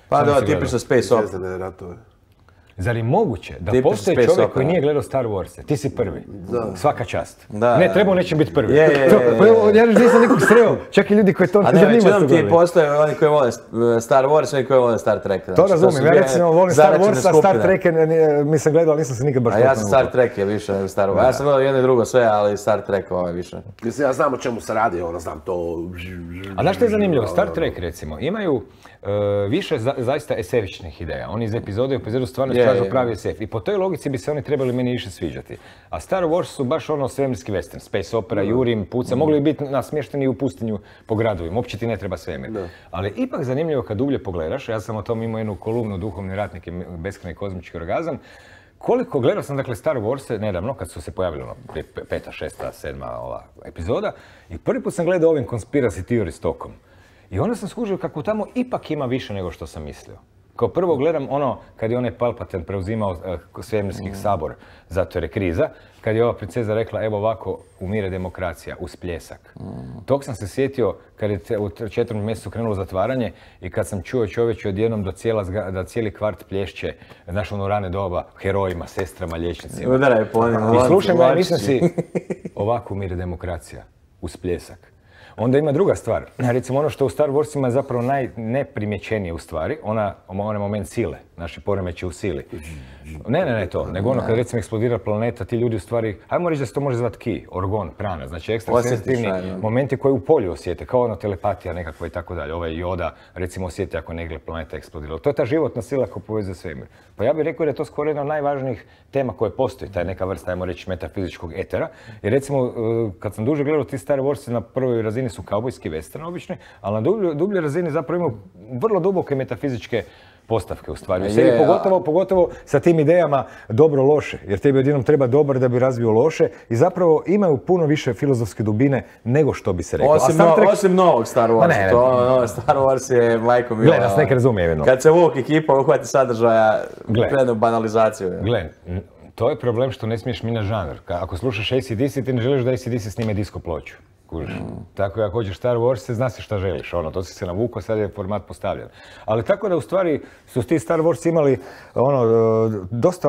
Pa da, tipično space opera. Zvijezdane ratove. Zar je moguće da Tipično postoji space čovjek opera. koji nije gledao Star Wars? Ti si prvi. Svaka čast. Da. Ne, treba u nečem biti prvi. Je. Ja nisam nikog sreo. Čak i ljudi koji to A ne, većinom ti postoje oni koji vole Star Wars i oni koji vole Star Trek. To razumijem, ja recimo volim Star Wars, a Star Trek mislim gledao, ali nisam se nikad baš A ja sam Star Trek je više nego Star Wars. Ja sam gledao jedno i drugo sve, ali Star Trek ovo je više. Mislim, ja znam o čemu se radi, znam to... A znaš što je zanimljivo? Star Trek recimo imaju više zaista SF-ičnih ideja. Oni iz epizode u epizodu stvarno istražu pravi SF. I po toj logici bi se oni trebali meni više sviđati. A Star Wars su baš ono svemirski western, space opera, jurim, puca, mogli bi biti nasmješteni u pustinju po gradovima, uopće ti ne treba svemir. Ali ipak zanimljivo kad dublje pogledaš, ja sam o tom imao jednu kolumnu Duhovni ratnik i beskrajni kozmički orgazam, koliko gledao sam dakle Star Wars nedavno, kad su se pojavili ono, 5., 6., 7. ova epizoda, i prvi put sam gledao ovim conspiracy theory tokom. I onda sam skužio kako tamo ipak ima više nego što sam mislio. Kao prvo gledam ono, kad je onaj Palpatine preuzimao svemirski sabor, zato jer je kriza, kad je ova princeza rekla, evo ovako umire demokracija, uz pljesak. Tog sam se sjetio kad je u 4. mjesecu krenulo zatvaranje i kad sam čuo čovječe odjednom da cijeli kvart plješće, znaš ono rane doba, herojima, sestrama, liječnicima. Udaraj po onim I slušam ja, mislim si, ovako umire demokracija, uz pljesak. Onda ima druga stvar. Recimo ono što u Star Warsima je zapravo najneprimjećenije u stvari, onaj moment sile, naši poremeći u sili. Ne to, nego ono kad recimo eksplodira planeta, ti ljudi u stvari, ajmo reći da se to može zvati ki, orgon, prana, znači ekstra senzitivni momenti koji u polju osjete, kao ono telepatija nekakva i tako dalje. Ovaj Yoda recimo osjeti ako negdje planeta eksplodirala. To je ta životna sila koja povezuje svemir. Pa ja bih rekao da je to skoro jedna od najvažnijih tema koje postoji, ta je neka vrsta, ajmo reći, metafizičkog etera. I recimo, kad sam duže gledao ti Star Warsi, na prvoj razini su kaubojski western obični, ali na dubljoj razini zapravo imaju vrlo duboke metafizičke postavke u stvari. U seriji pogotovo sa tim idejama dobro-loše, jer tebi odjednom treba dobar da bi razvio loše i zapravo imaju puno više filozofske dubine nego što bi se rekao. Osim novog Star Warsa, Star Wars je majko mila. Gle, nas nek razumije jedno. Kad se Vuk ekipa uhvati sadržaja, krenu banalizaciju. Gle, to je problem što ne smiješ mijenjati žanr. Ako slušaš AC/DC, ti ne želiš da AC/DC snime disco ploču. Tako ako hoćeš Star Wars, zna si šta želiš, to si se navukao, sad je format postavljen. Ali tako da u stvari su ti Star Wars imali dosta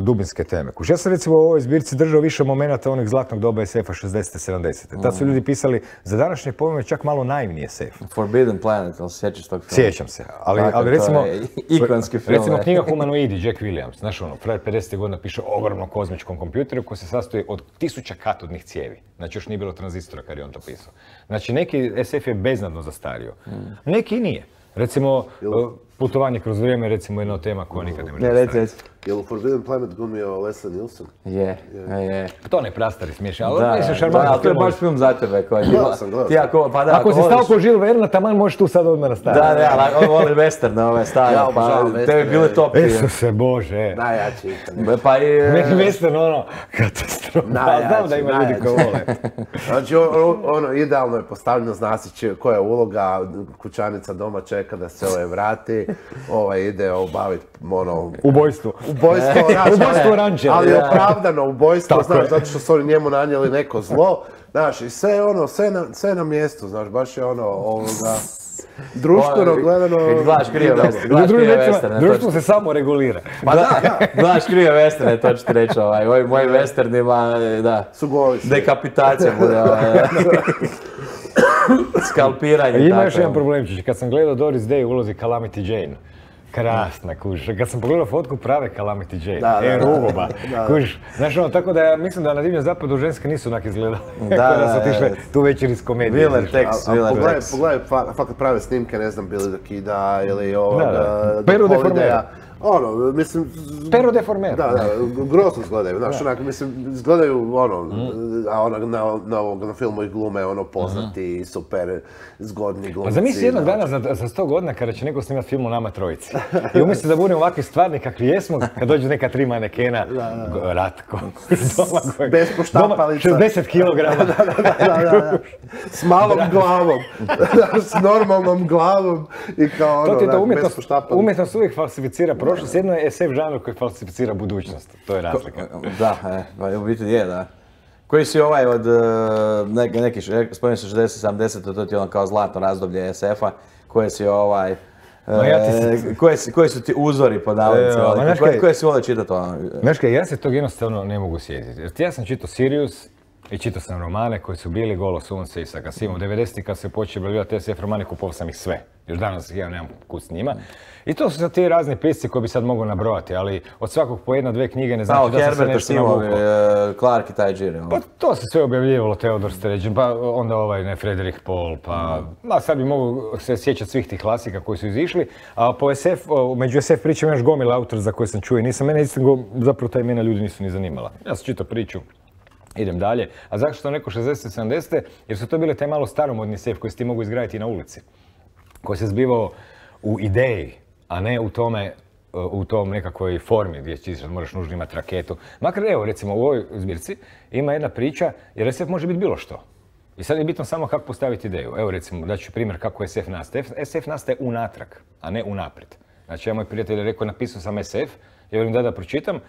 dubinske teme. Ja sam recimo u ovoj zbirci držao više momenata onih zlatnog doba SF-a 60-70. Tad su ljudi pisali za današnje pojmove čak malo naivnije SF. Forbidden Planet, ali sjećaš tog filma? Sjećam se, ali recimo... Ikonski film. Recimo knjiga Humanoidi, Jack Williams. Znaš frajer 50. godina piše o ogromnom kozmičkom kompjuteru koji se sastoji od 1000 katodnih cijevi. Znači još nije bilo tranzistora kad je on to pisao. Znači neki SF je beznadno zastario. Neki nije. Recimo, putovanje kroz vrijeme je recimo jedna od tema koja nikad ne može zastariti. Je li u Forbidden Planet glumio Leslie Nielsen? Je. To ne prastari smiješan, ali mislim šarmantno. Da, to je baš film za tebe. Ako si stao ko Žil Verna, taman možeš tu sad odmah nastaviti. Da, ali on voli western ove stare, pa tebi bili top. Isuse Bože. Najjači ikad. Meni western katastrofa. Znam da ima ljudi koji vole. Znači, idealno je postavljeno, zna se koja je uloga, kućanica doma čeka da se vrati, ide obaviti ubojstvo. Ubojstvo rančera. Ali opravdano ubojstvo, znaš, zato što su oni njemu nanijeli neko zlo. Znaš, i sve na mjestu, znaš, baš je društveno gledano... Gledaš krive westerne. Društvo se samo regulira. Pa da, gledaš krive westerne, to ću ti reći, ovi moji westernima, da. Su goli. Dekapitacija bude, skalpiranje. Ima još jedan problemčić, kad sam gledao Doris Day u ulozi Calamity Jane, krasna, kužiš. Kad sam pogledao fotku prave Calamity Jane, rugoba, kužiš. Znaš tako da ja mislim da na Divljem zapadu ženske nisu onak izgledale. Da su otišle tu večer iz komedije. Willer Tex. Pogledaj fakat prave snimke, ne znam, Billy the Kida ili Peru de Formera. Ono, mislim... Pero deformer. Da, grozno izgledaju, znaš, onak, mislim, izgledaju, ono, a onak na filmu ih glume, ono, poznati, super, zgodni glumci. Pa zamisli jednog dana za 100 godina kada će neko snimati film o nama trojici. I umjesto da budemo ovakvi stvarni kakvi jesmo, kad dođu neka 3 manekena, Ratko, bez poštapalica. 60 kilograma. Da. S malom glavom, s normalnom glavom i kao ono, bez poštapalica. Umjetnost uvijek falsificira prošlost, jedno je SF žanr koji falsificira budućnost, to je razlika. Da, u biti je, da. Koji si ovaj od neki, spomenuo se 60-70, to ti je ono kao zlatno razdoblje SF-a, koje si ovaj... Koji su ti uzori po navodnicima, koje si volio čitati ono? Znaš kaj, ja se tog jednostavno ne mogu sjetiti. Jer ja sam čitao Sirius i čitao sam romane koji su bili Golo sunce i Sakasim. U 90-ih kad se počeli objavljivati SF romane, kupovao sam ih sve. Još danas ja nemam kud s njima. I to su sad ti razni pisci koji bi sad mogao nabrojati, ali od svakog po 1-2 knjige ne znači da sam se nešto navukao. Clark i taj džir. Pa to se sve objavljivalo, Theodor Sturgeon, pa onda Frederik Pohl, pa sad bi mogu se sjećati svih tih klasika koji su izišli. A među SF pričama još gomila autor za koje sam čuo i mene zapravo ta imena ljudi nisu ni zanimala. Ja sam čitao priču, idem dalje. A zašto neko 60-70? Jer su to bile taj malo staromodni SF koji si ti mogu izgraditi na ulici. Koji se zbivao u ideji, a ne u tom nekakvoj formi gdje moraš nužno imati raketu. Makar evo, recimo u ovoj zbirci ima jedna priča, jer SF može biti bilo što. I sad je bitno samo kako postaviti ideju. Evo recimo, daću primjer kako SF nastaje. SF nastaje unatrag, a ne unaprijed. Znači, ja moj prijatelj je rekao, napisao sam SF, ja velim da pročitam,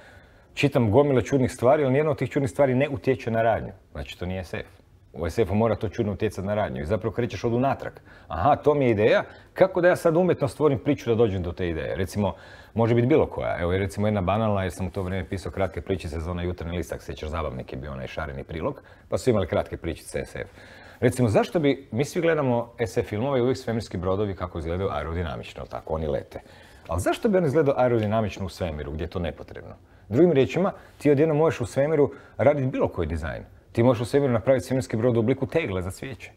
čitam gomile čudnih stvari, ali nijedna od tih čudnih stvari ne utječe na radnju. Znači, to nije SF. U SF-u mora to čudno utjecati na radnju i zapravo krećeš od unatrag. Aha, to mi je ideja, kako da ja sad umjetno stvorim priču da dođem do te ideje. Recimo, može biti bilo koja. Evo je recimo jedna banalna, jer sam u to vrijeme pisao kratke pričice za onaj Jutarnji list, ako sjećaš, zabavnik je bio onaj šareni prilog, pa su imali kratke pričice SF. Recimo, zašto bi, mi svi gledamo SF filmove i uvijek svemirski brodovi kako izgledaju aerodinamično, tako, oni lete. Ali zašto bi on izgledao aerodinamično u svemiru, gdje je to nepotrebno? Drugim riječima, ti odjednom možeš u svemiru raditi bilo koji dizajn. Ti možeš u svemiru napraviti svemirski brod u obliku tegle za cvijeće.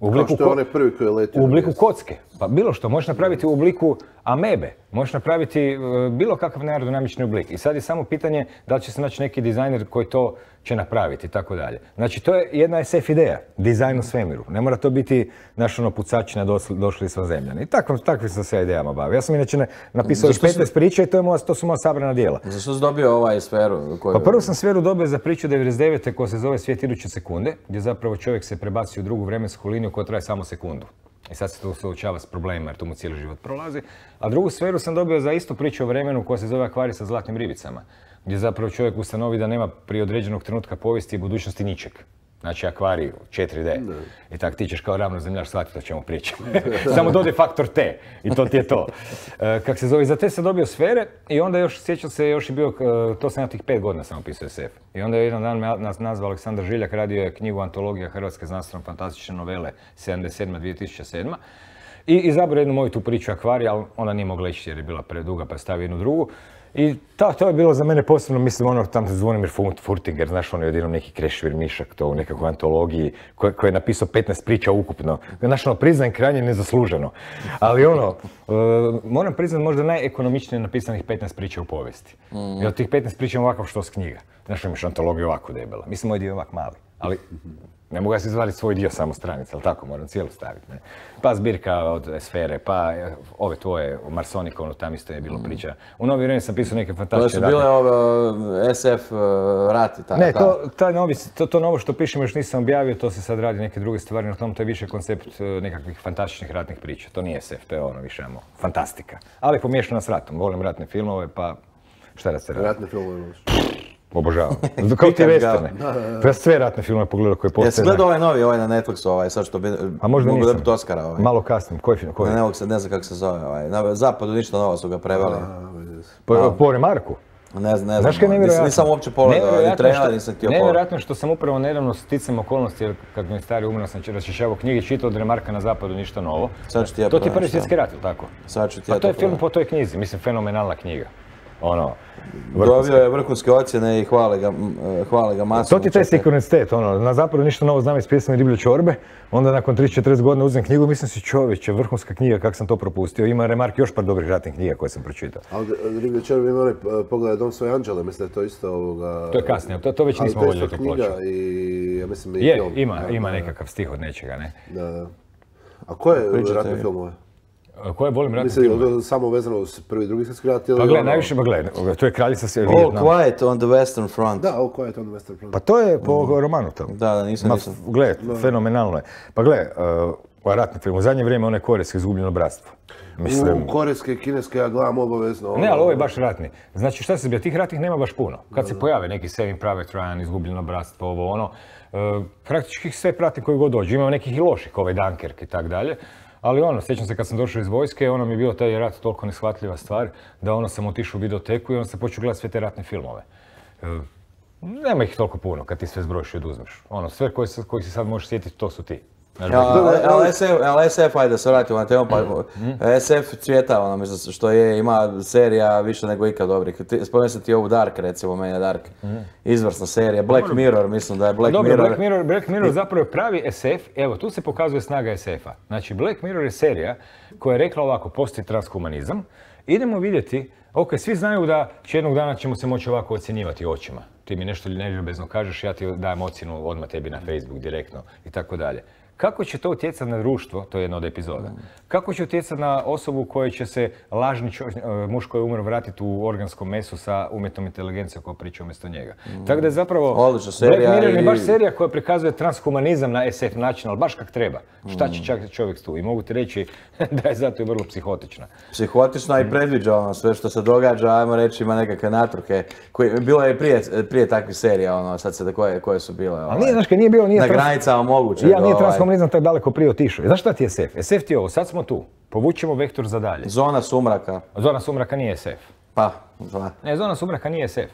Kao što je onaj prvi koji je letio. U obliku kocke. Pa bilo što. Možeš napraviti u obliku amebe. Možeš napraviti bilo kakav neaerodinamični oblik. I sad je samo pitanje da li će se naći neki dizajner koji to će napraviti i tako dalje. Znači, to je jedna SF ideja. Dizajn u svemiru. Ne mora to biti naš pucačina došli sva zemljani. I takvim sam se idejama bavio. Ja sam inače napisao 15 priča i to su moja sabrana djela. Zašto si dobio ovaj sferu? Pa prvo sam sferu dobio za priču 99. koja se zove Svijet iduće sekunde, gdje zapravo čovjek se prebaci u drugu vremensku liniju koja traje samo sekundu. I sad se tu suočava s problemima jer tu mu cijeli život prolazi. A drugu sferu sam dobio za istu priču o vremenu koja se zove Akvarij sa zlatnim ribicama, gdje zapravo čovjek ustanovi da nema prije određenog trenutka povijesti i budućnosti ničeg. Znači akvarij 4D. I tak ti ćeš kao ravnozemljaš shvatiti o čemu pričam. Samo dodaj faktor T i to ti je to. Kak se zove, za te sam dobio sfere i onda još, sjećam se, još je bio, to sam ja tih 5 godina sam opisao SF. I onda je jedan dan me nazvao Aleksandar Žiljak, radio je knjigu Antologija hrvatske znanstveno-fantastične novele 77-2007. I izabrao jednu moju tu priču akvarija, ali ona nije mogla ići jer je bila preduga pa je stavio jednu drugu. I to je bilo za mene posebno, mislim, ono tam Zvonimir Furtinger, znaš, on je odjednom neki Krešimir Mišak, to u nekakvoj antologiji, koji je napisao 15 priča ukupno. Znaš, ono, priznajem krajnje nezasluženo. Ali ono, moram priznati možda najekonomičnije napisanih 15 priča u povijesti. I od tih 15 priča ovakav što s knjiga. Znaš, imaš antologiju ovako debela. Mislim, moj dio je ovak mali, ali ne mogu ja si izvaditi svoj dio samo stranice, ali tako, moram cijelu staviti. Ne? Pa zbirka od Sfere, pa ove tvoje, u Marsonikonu, tam isto je bilo priča. U Novi vrijeme sam pisao neke fantastične rate. To su bile SF rati, tako? Ne, to novo što pišem još nisam objavio, to se sad radi neke druge stvari, na tom to je više koncept nekakvih fantastičnih ratnih priča. To nije SF, to je ono više fantastika. Ali pomiješano s ratom, volim ratne filmove, pa šta da se radi? Ratne filmove voliš? Obožavam. Kao ti westerne. Pa ja sve ratne filmove pogledao koje postoje. Jesi gledao ovaj novi, ovaj na Netflixu, sad što bi mogu dobiti Oscara? Malo kasnim, koji film? Ne znam kako se zove. Na Zapadu ništa novo su ga preveli. Po Remarku? Ne znam. Znaš kaj je nevjerojatno? Nisam uopće pogledao, ni trailer nisam htio pogledati. Nevjerojatno što sam upravo nedavno sticam okolnosti, jer kad mi je stari umro sam raščišćavao knjige, čitao od Remarka na Zapadu ništa novo. To ti je Prvi svjetski rat, ili tako? Sad ću ti ja to je film po toj knjizi, mislim, fenomenalna knjiga. ono, Dobio je vrhunske ocjene i hvale ga masno. To ti je taj sinkronitet, ono, na zapadu ništa novo znam iz pjesme Riblje čorbe, onda nakon 30-40 godina uzem knjigu, mislim si čovječe, vrhunska knjiga, kak sam to propustio. Ima remark još par dobrih ratnih knjiga koje sam pročitao. Ali Riblje čorbe ima onaj Pogledaj dom svoje anđele, mislim da je to isto ovoga... To je kasnije, to već nismo voljeli tu ploču. I ja mislim i film. Ima nekakav stih od nečega, ne? Da. A koje ratne filmove? Koje volim ratne filmove? Mislim, samo vezano uz prvi i drugi svjetski rat ili... Pa gledaj, najviše, to je Kraljica se All Quiet on the Western Front. Da, All Quiet on the Western Front. Pa to je po romanu tamo. Da, nisam. Gle, fenomenalno je. Pa gle, ratni film, u zadnje vrijeme onaj korejski Izgubljeno bratstvo. Mislim... Korejske i kineske ja gledam obavezno. Ne, ali ovo je baš ratni. Znači šta se zbija, tih ratnih nema baš puno. Kad se pojave neki Saving Private Ryan, Izgubljeno bratstvo, ovo ono, praktički sve pratim koji god dođu. Ima nekih i loših, ovaj Dunkirk i tak dalje. Ali ono, sjećam se kad sam došao iz vojske, ono mi je bio taj rat toliko neshvatljiva stvar, da ono sam otišao u videoteku i onda sam počeo gledati sve te ratne filmove. Nema ih toliko puno kad ti sve zbrojiš i oduzmeš. Ono, sve koji se sad možeš sjetiti, to su ti. Ali SF, ajde da se vratimo na temu, pa SF cvjeta, ono, mislim, što je, ima serija više nego ikad dobrih. Spomenuo sam ti ovu Dark, recimo, meni je Dark. Izvrsna serija. Black Mirror, mislim da je Black Mirror. Dobro, Black Mirror zapravo je pravi SF, evo, tu se pokazuje snaga SF-a. Znači, Black Mirror je serija koja je rekla ovako, postoji transhumanizam, idemo vidjeti, ok, svi znaju da jednog dana ćemo se moći ovako ocjenjivati očima. Ti mi nešto neljubezno kažeš, ja ti dajem ocjenu odmah tebi na Facebook direktno i tako dalje. Kako će to utjecati na društvo, to je jedna od epizoda, kako će utjecati na osobu koja će se lažni muž koji je umro vratiti u organsko meso sa umjetnom inteligencijom koja priča umjesto njega. Tako da je zapravo Black Mirror je baš serija koja prikazuje transhumanizam na SF način, ali baš kak treba. Šta će čak čovjek tu? I mogu ti reći da je zato i vrlo psihotična. Psihotična i predviđa ono sve što se događa, ajmo reći ima nekakve natruke. Bilo je prije takvih serija, ono, sad se koje su bile. Ali nije, znaš, nije bilo, na granicama moguće. Transhumanizam tako daleko prije otišao. Znaš šta ti je SF? SF ti je ovo, sad smo tu. Povučemo vektor za dalje. Zona sumraka. Zona sumraka nije SF. Pa, ne, zona sumraka nije SF.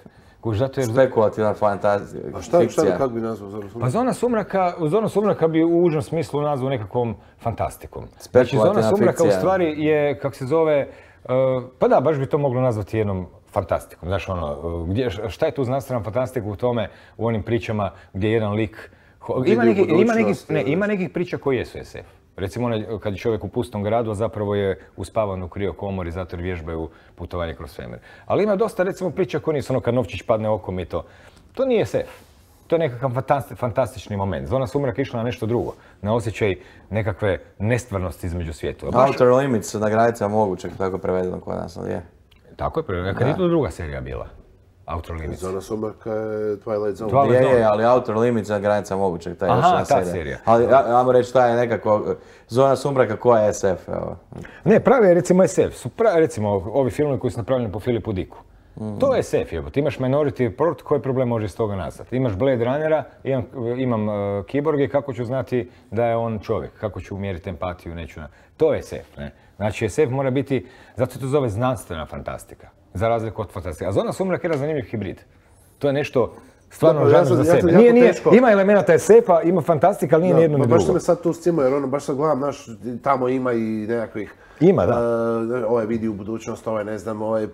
Spekulativna fikcija. A šta kako bi nazvao Zona sumraka? Pa Zona sumraka bi u užem smislu nazvao nekakvom fantastikom. Znači, Zona sumraka u stvari je, kak se zove, pa da, baš bi to moglo nazvati jednom fantastikom. Znaš, ono, šta je tu znanstvena fantastika u tome, u onim pričama gdje jedan lik... Ima nekih priča koji jesu SF. Recimo kad je čovjek u pustom gradu, a zapravo je uspavan u kriokomori zato jer vježbaju putovanje kroz svemir. Ali ima dosta recimo priča koji nisu ono kad novčić padne okom i to. To nije SF. To je nekakav fantastični moment. Zona sumraka išla na nešto drugo. Na osjećaj nekakve nestvarnosti između svijetova. Outer Limits na granicama mogućeg, tako prevedeno kod nas, ali je. Tako je prevedeno. Kad je to druga serija bila? Outer Limits. Zona sumraka je Twilight Zone. Je, ali Outer Limits na granica mogućeg, ta je još jedna serija. Ta serija. Ali, ajmo reći, ta je nekako Zona sumraka koja je SF, evo. Ne, pravi je recimo SF, su recimo ovi filmovi koji su napravljeni po Philipu Dicku. To je SF, ti imaš Minority Report, koji problem može iz toga nastati? Imaš Blade Runnera, imam kiborge, kako ću znati da je on čovjek, kako ću umjeriti empatiju, neću... To je SF, ne? Znači SF mora biti, zato se to zove znanstvena fantastika. Za razliku od fantastike. A Zona sumraka je jedan zanimljiv hibrid. To je nešto stvarno žanr za sebe. Ima elemenata SF-a, ima fantastika, ali nije ni jedno ni drugo. Baš što me sad tu scimo, jer ono, baš sad gledam, znaš, tamo ima i nekakvih... Ima, da. Ovaj vidi u budućnost, ovaj ne znam, ovaj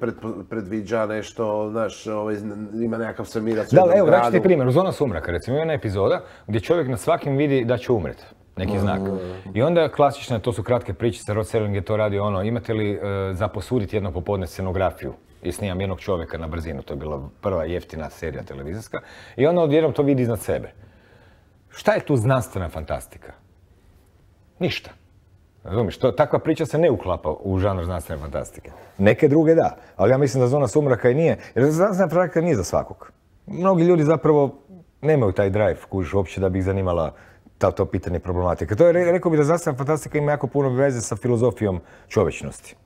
predviđa nešto, znaš, ovaj ima nekakav svemirac u jednom gradu. Da, evo, daću ti primjer. U Zona sumraka, recimo, ima jedna epizoda gdje čovjek na svakim vidi da će umret. Neki znak. I onda klasične, to su kratke pričice, Rod Serling je to radio ono, imate li za posuditi jedno popodne scenografiju? I snimam jednog čovjeka na brzinu, to je bila prva jeftina serija televizijska. I onda odjednom to vidi iznad sebe. Šta je tu znanstvena fantastika? Ništa. Razumiješ, takva priča se ne uklapa u žanr znanstvene fantastike. Neke druge da, ali ja mislim da Zona sumraka i nije, jer znanstvena fantastika nije za svakog. Mnogi ljudi zapravo nemaju taj drive, kužiš, uopće da bi ih zanimala to pitanje problematike. To je, rekao bih da znanstvena fantastika ima jako puno veze sa filozofijom čovječnosti.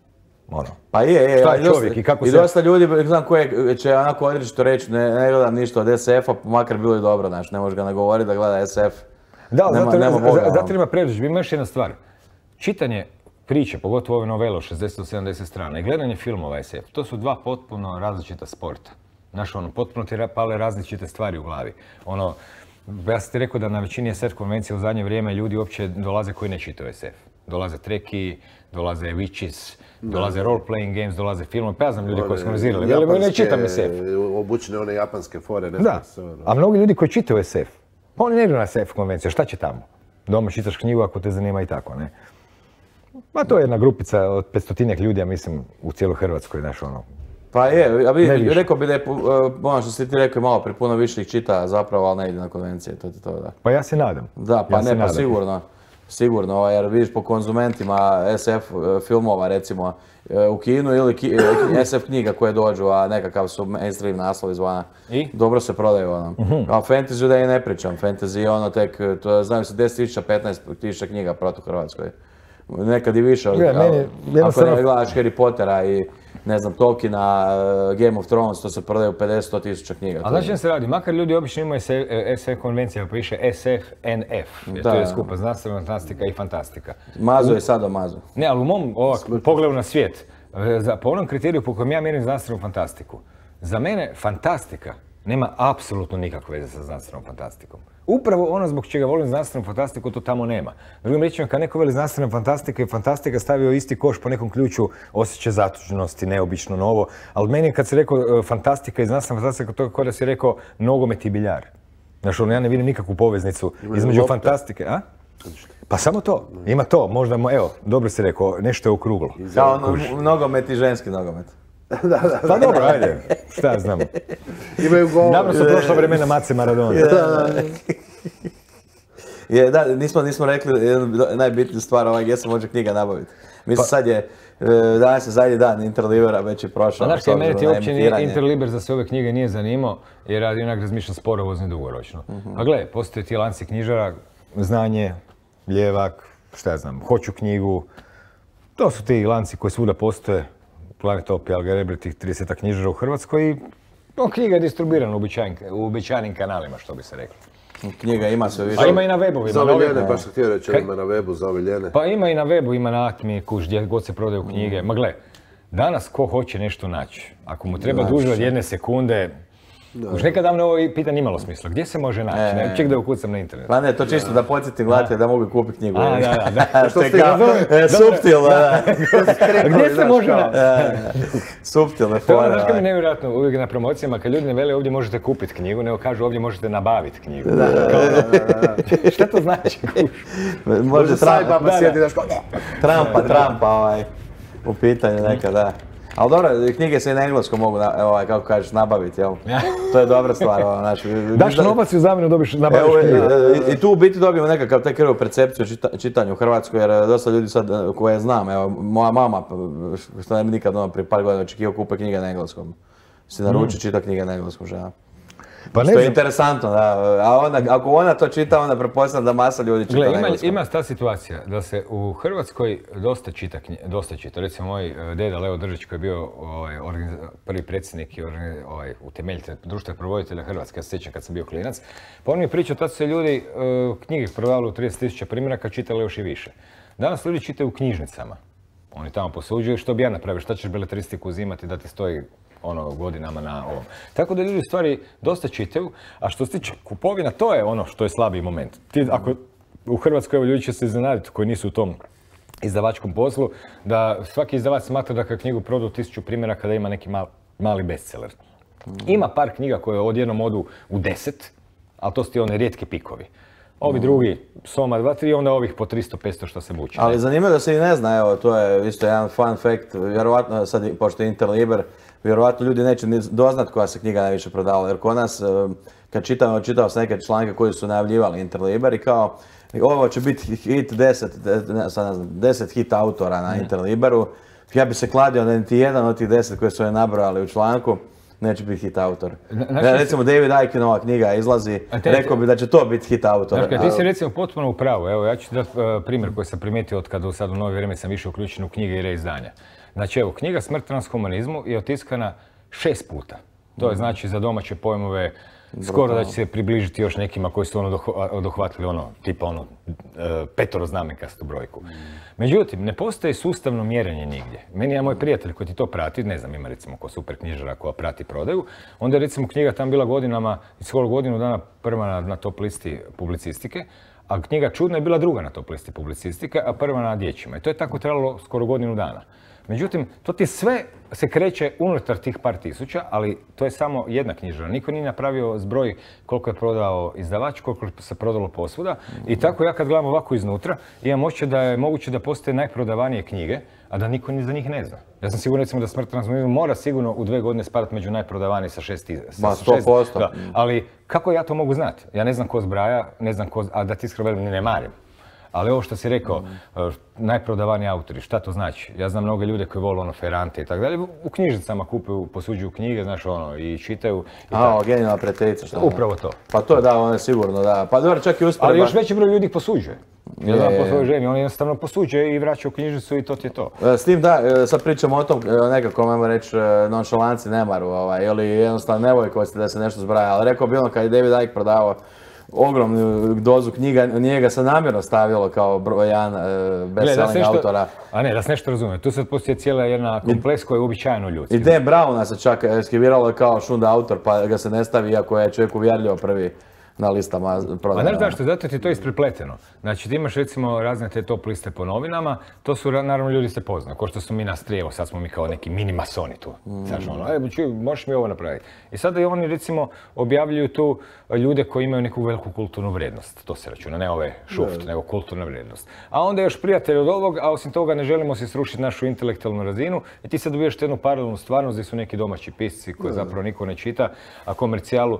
Ono. Pa je, šta je čovjek i kako se... I dosta ljudi, znam koje će onako određito reći, ne gledam ništa od SF-a, makar bilo i dobro, znaš, ne možeš ga nagovoriti da gleda SF. Da, zato ima predodžbi. Ima još jedna stvar. Čitanje priče, pogotovo ove novele od 60-70 strana i gledanje filmova SF, to su dva potpuno različita sporta. Znaš, ono, potpuno ti pale različite stvari u glavi. Ono, ja sam ti rekao da na većini SF konvencija u zadnje vrijeme ljudi uopće dolaze koji ne čitaju SF. Dolaze treki, dolaze witches, dolaze role-playing games, dolaze filmovi, pa ja znam ljudi koji su organizirali. Veli, ne čitam SF. Obučene one japanske fore. Da, a mnogi ljudi koji čitaju SF, pa oni ne idu na SF konvenciju, šta će tamo? Doma čitaš knjigu ako te zanima i tako, ne? Ma to je jedna grupica od 500 ljudi, ja mislim, u cijeloj Hrvatskoj, znaš, ono. Pa je, rekao bi da je, ono što si ti rekao, malo pri puno više ih čita zapravo, ali ne ide na konvencije, to je to, da. Pa ja se nadam. Da, pa ne, pa sigurno, jer vidiš po konzumentima SF filmova, recimo, u kinu ili SF knjiga koje dođu, a nekakav su mainstream naslovi izvana. I? Dobro se prodaju, ono. A fantasy da i ne pričam, fantasy je ono tek, znaju se 10.000, 15.000 knjiga protu Hrvatskoj. Nekad i više, ako ne gledaš Harry Pottera i ne znam, Tolkiena, Game of Thrones, to se prodaju 50-100.000 knjiga. A znači se radi, makar ljudi obično imaju SF konvencija, pa piše SF-NF, jer to je skupa znanstvena fantastika i fantastika. Mazo je sada mazo. Ne, ali u mom pogledu na svijet, po onom kriteriju po kojem ja mjerim znanstvenu fantastiku, za mene fantastika nema apsolutno nikakve veze sa znanstvenom fantastikom. Upravo ono zbog čega volim znanstvenu fantastiku, to tamo nema. Drugim riječima, kad neko veli znanstvena fantastika i fantastika stavio isti koš po nekom ključu osjećaj zatužnosti, neobično novo, ali meni kad si rekao fantastika i znanstvena fantastika, to je kao da si rekao nogomet i biljar. Znaš, ja ne vidim nikakvu poveznicu između fantastike, a? Pa samo to, ima to, možda, evo, dobro si rekao, nešto je okruglo. Kao nogomet i ženski nogomet. Pa dobro, ajde, šta ja znam. Imaju gol. Dobro su prošla vremena Mace Maradona. Da, nismo rekli najbitniju stvar, gdje se može knjiga nabaviti. Mislim, sad je, danas je zadnji dan Interlibera, već je prošao. Znaš, kaj mene ti uopće nije Interliber za sve ove knjige nije zanimao, jer ja onak razmišljam sporovozno i dugoročno. A gle, postoje ti lanci knjižara, Znanje, Ljevak, šta ja znam, Hoću knjigu. To su ti lanci koji svuda postoje. Planetop i Algerebri, tih 30 knjižara u Hrvatskoj i knjiga je distribuirana u uobičajenim kanalima, što bi se reklo. Knjiga ima sve više. Pa ima i na webovima. Zaoviljene, baš sam htio reći, ima na webu zaoviljene. Pa ima i na webu, ima na Atmi, kuš, gdje god se prodaju knjige. Ma gle, danas ko hoće nešto naći, ako mu treba duže od 1 sekunde, už nekad davno ovo pitanje imalo smisla. Gdje se može naći? Ne, ček da ukucam na internet. Pa ne, to čisto da podsjetim gledatelje da mogu kupiti knjigu. Da. Što ste ga suptilno, da. Gdje se može naći? Suptilne To fore. znaš kaj mi je nevjerojatno uvijek na promocijama, kad ljudi ne vele ovdje možete kupiti knjigu, nego kažu ovdje možete nabaviti knjigu. Šta to znači? Može sajbaba sjedi daš kao... Trampa u pitanju nekad, da. Ali dobro, knjige se i na engleskom mogu, kako kažeš, nabaviti, jel? To je dobra stvar, Daš novac i u zamjenu nabaviš knjigu. I tu u biti dobijemo nekakav tek krivu percepciju čitanju u Hrvatskoj, jer dosta ljudi sad koje znam, evo, moja mama, što ne bi nikad prije par godina očekivao kupe knjige na engleskom. Si naruči čita knjige na engleskom, žena. Pa što je interesantno, da. A ako ona to čita, onda pretpostavljam da masa ljudi čita na engleskom. Ima ta situacija da se u Hrvatskoj dosta čita. Recimo moj deda Leo Držić koji je bio prvi predsjednik i utemeljitelj društva provoditelja Hrvatske, ja se sjećam kad sam bio klinac, pa on mi je pričao, tad su se ljudi knjige prodavali u 30.000 primjeraka, čitali još i više. Danas ljudi čitaju u knjižnicama. Oni tamo posuđuju, što bi ja napravio, šta ćeš beletristiku uzimati da ti stoji godinama na ovom. Tako da ljudi u stvari dosta čitaju, a što se tiče kupovina, to je ono što je slabiji moment. Ako u Hrvatskoj evo ljudi će se iznenaditi koji nisu u tom izdavačkom poslu, da svaki izdavač smatra da kad knjigu proda u 1000 primjeraka da ima neki mali bestseller. Ima par knjiga koje odjednom odu u 10, ali to su ti oni rijetki pikovi. Ovi drugi, Soma 2, 3, onda ovih po 300-500 što se muči. Ali zanimljivo da se i ne zna, evo, to je isto jedan fun fact, vjerovatno sad, pošto je Interliber, vjerovatno ljudi neće ni doznat koja se knjiga najviše prodavala, jer kod nas, kad čitao sam neke članke koji su najavljivali Interliber i kao, ovo će biti hit 10 hit autora na Interliberu, ja bi se kladio da niti jedan od tih 10 koje su je nabrojali u članku, neće biti hit autor. Recimo David Ickenova knjiga izlazi, rekao bi da će to biti hit autor. Ti si recimo potpuno u pravu, evo ja ću dati primjer koji sam primijetio od kada sad u novo vrijeme sam više uključen u knjige i reizdanja. Znači evo, knjiga Smrt transhumanizmu je otiskana 6 puta. To je znači za domaće pojmove skoro da će se približiti još nekima koji su dohvatili tipa petoroznamenkastu brojku. Međutim, ne postoji sustavno mjerenje nigdje. Meni je moj prijatelj koji ti to prati, ne znam, ima recimo ko super knjižara koja prati prodaju, onda je recimo knjiga tam bila godinama, skoro godinu dana prva na top listi publicistike, A knjiga Čudno je bila druga na top listi publicistike, a prva na dječjima. I to je tako trajalo skoro godinu dana. Međutim, to ti sve se kreće unutar tih par tisuća, ali to je samo jedna knjižara. Niko nije napravio zbroj koliko je prodao izdavač, koliko se prodalo posvuda. I tako ja kad gledam ovako iznutra, imam osjećaj da je moguće da postoje najprodavanije knjige, a da niko ni za njih ne zna. Ja sam siguran recimo da Smrt transformizmu mora sigurno u 2 godine spadati među najprodavanije sa 6. Ma 100%. Da. Ali kako ja to mogu znati? Ja ne znam ko zbraja, ne znam ko, a da ti iskreno velim, ni ne marim. Ali ovo što si rekao, najprodavaniji autori, šta to znači? Ja znam mnogo ljude koji vole ono Ferrante i tako dalje, u knjižnicama kupuju, posuđuju knjige, znaš ono, i čitaju. Genijalna prijateljica, šta? Upravo to. Pa to je da, on je sigurno da. Pa dobro, čak i usporedba. Ali još veći broj ljudi ih posuđuje. Ja znam po svojoj ženi, on jednostavno posuđuje i vraća u knjižnicu i to ti je to. S tim da, sad pričamo o tom nekako, ajmo reći, nonšalanci nemaru, ili jednostavno nevojkosti da se nešto zbraja, ali rekao bi ono kad je David Icke prodavao ogromnu dozu knjiga, njega se namjerno stavilo kao broj 1 best-selling autora. A ne, da se nešto razumijem, tu sad postoji cijela jedna kompleks koja je uobičajeno ljudski. I Dan Browna se čak eskiviralo kao šunda autor, pa ga se ne stavi, iako je čovjek uvjerljivo prvi na listama prodaja. A znaš zašto? Zato ti to je isprepleteno. Znači ti imaš recimo razne te top liste po novinama, to su naravno ljudi se poznaju, kao što su mi nas tri, evo sad smo mi kao neki mini masoni tu. Znaš ono, čuj, možeš mi ovo napraviti. I sada i oni recimo objavljuju tu ljude koji imaju neku veliku kulturnu vrijednost, to se računa, ne ove šuft, nego kulturna vrijednost. A onda još prijatelj od ovog, a osim toga ne želimo si srušiti našu intelektualnu razinu i ti sad dobijaš jednu paralelnu stvarnost gdje su neki domaći pisci koje zapravo niko ne čita, a komercijalu,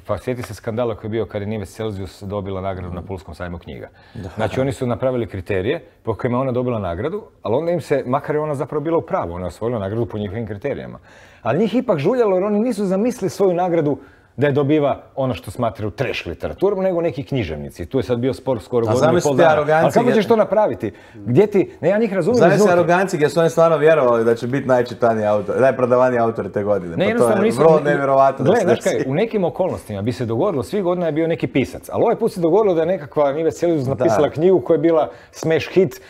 pa sjeti se skandala koji je bio kad je Nives Celsius dobila nagradu na Pulskom sajmu knjiga. Znači oni su napravili kriterije po kojima ona dobila nagradu, ali onda im se, makar je ona zapravo bila u pravu, ona je osvojila nagradu po njihovim kriterijama. Ali njih ipak žuljalo jer oni nisu zamislili svoju nagradu da je dobiva ono što smatraju trash literaturom, nego neki književnici. Tu je sad bio spor skoro godinu i pol dana. Ali kako ćeš to napraviti? Gdje ti, ne, ja njih razumijem iznutra. Zamisli aroganci gdje su oni stvarno vjerovali da će biti najčitaniji autor, najprodavaniji autori te godine. Ne, pa to je vrlo nevjerovatno da se desi. Znaš kaj, u nekim okolnostima bi se dogodilo, svih godina je bio neki pisac, ali ovaj put se dogodilo da je nekakva Nives Celsius napisala knjigu koja je bila smash hit.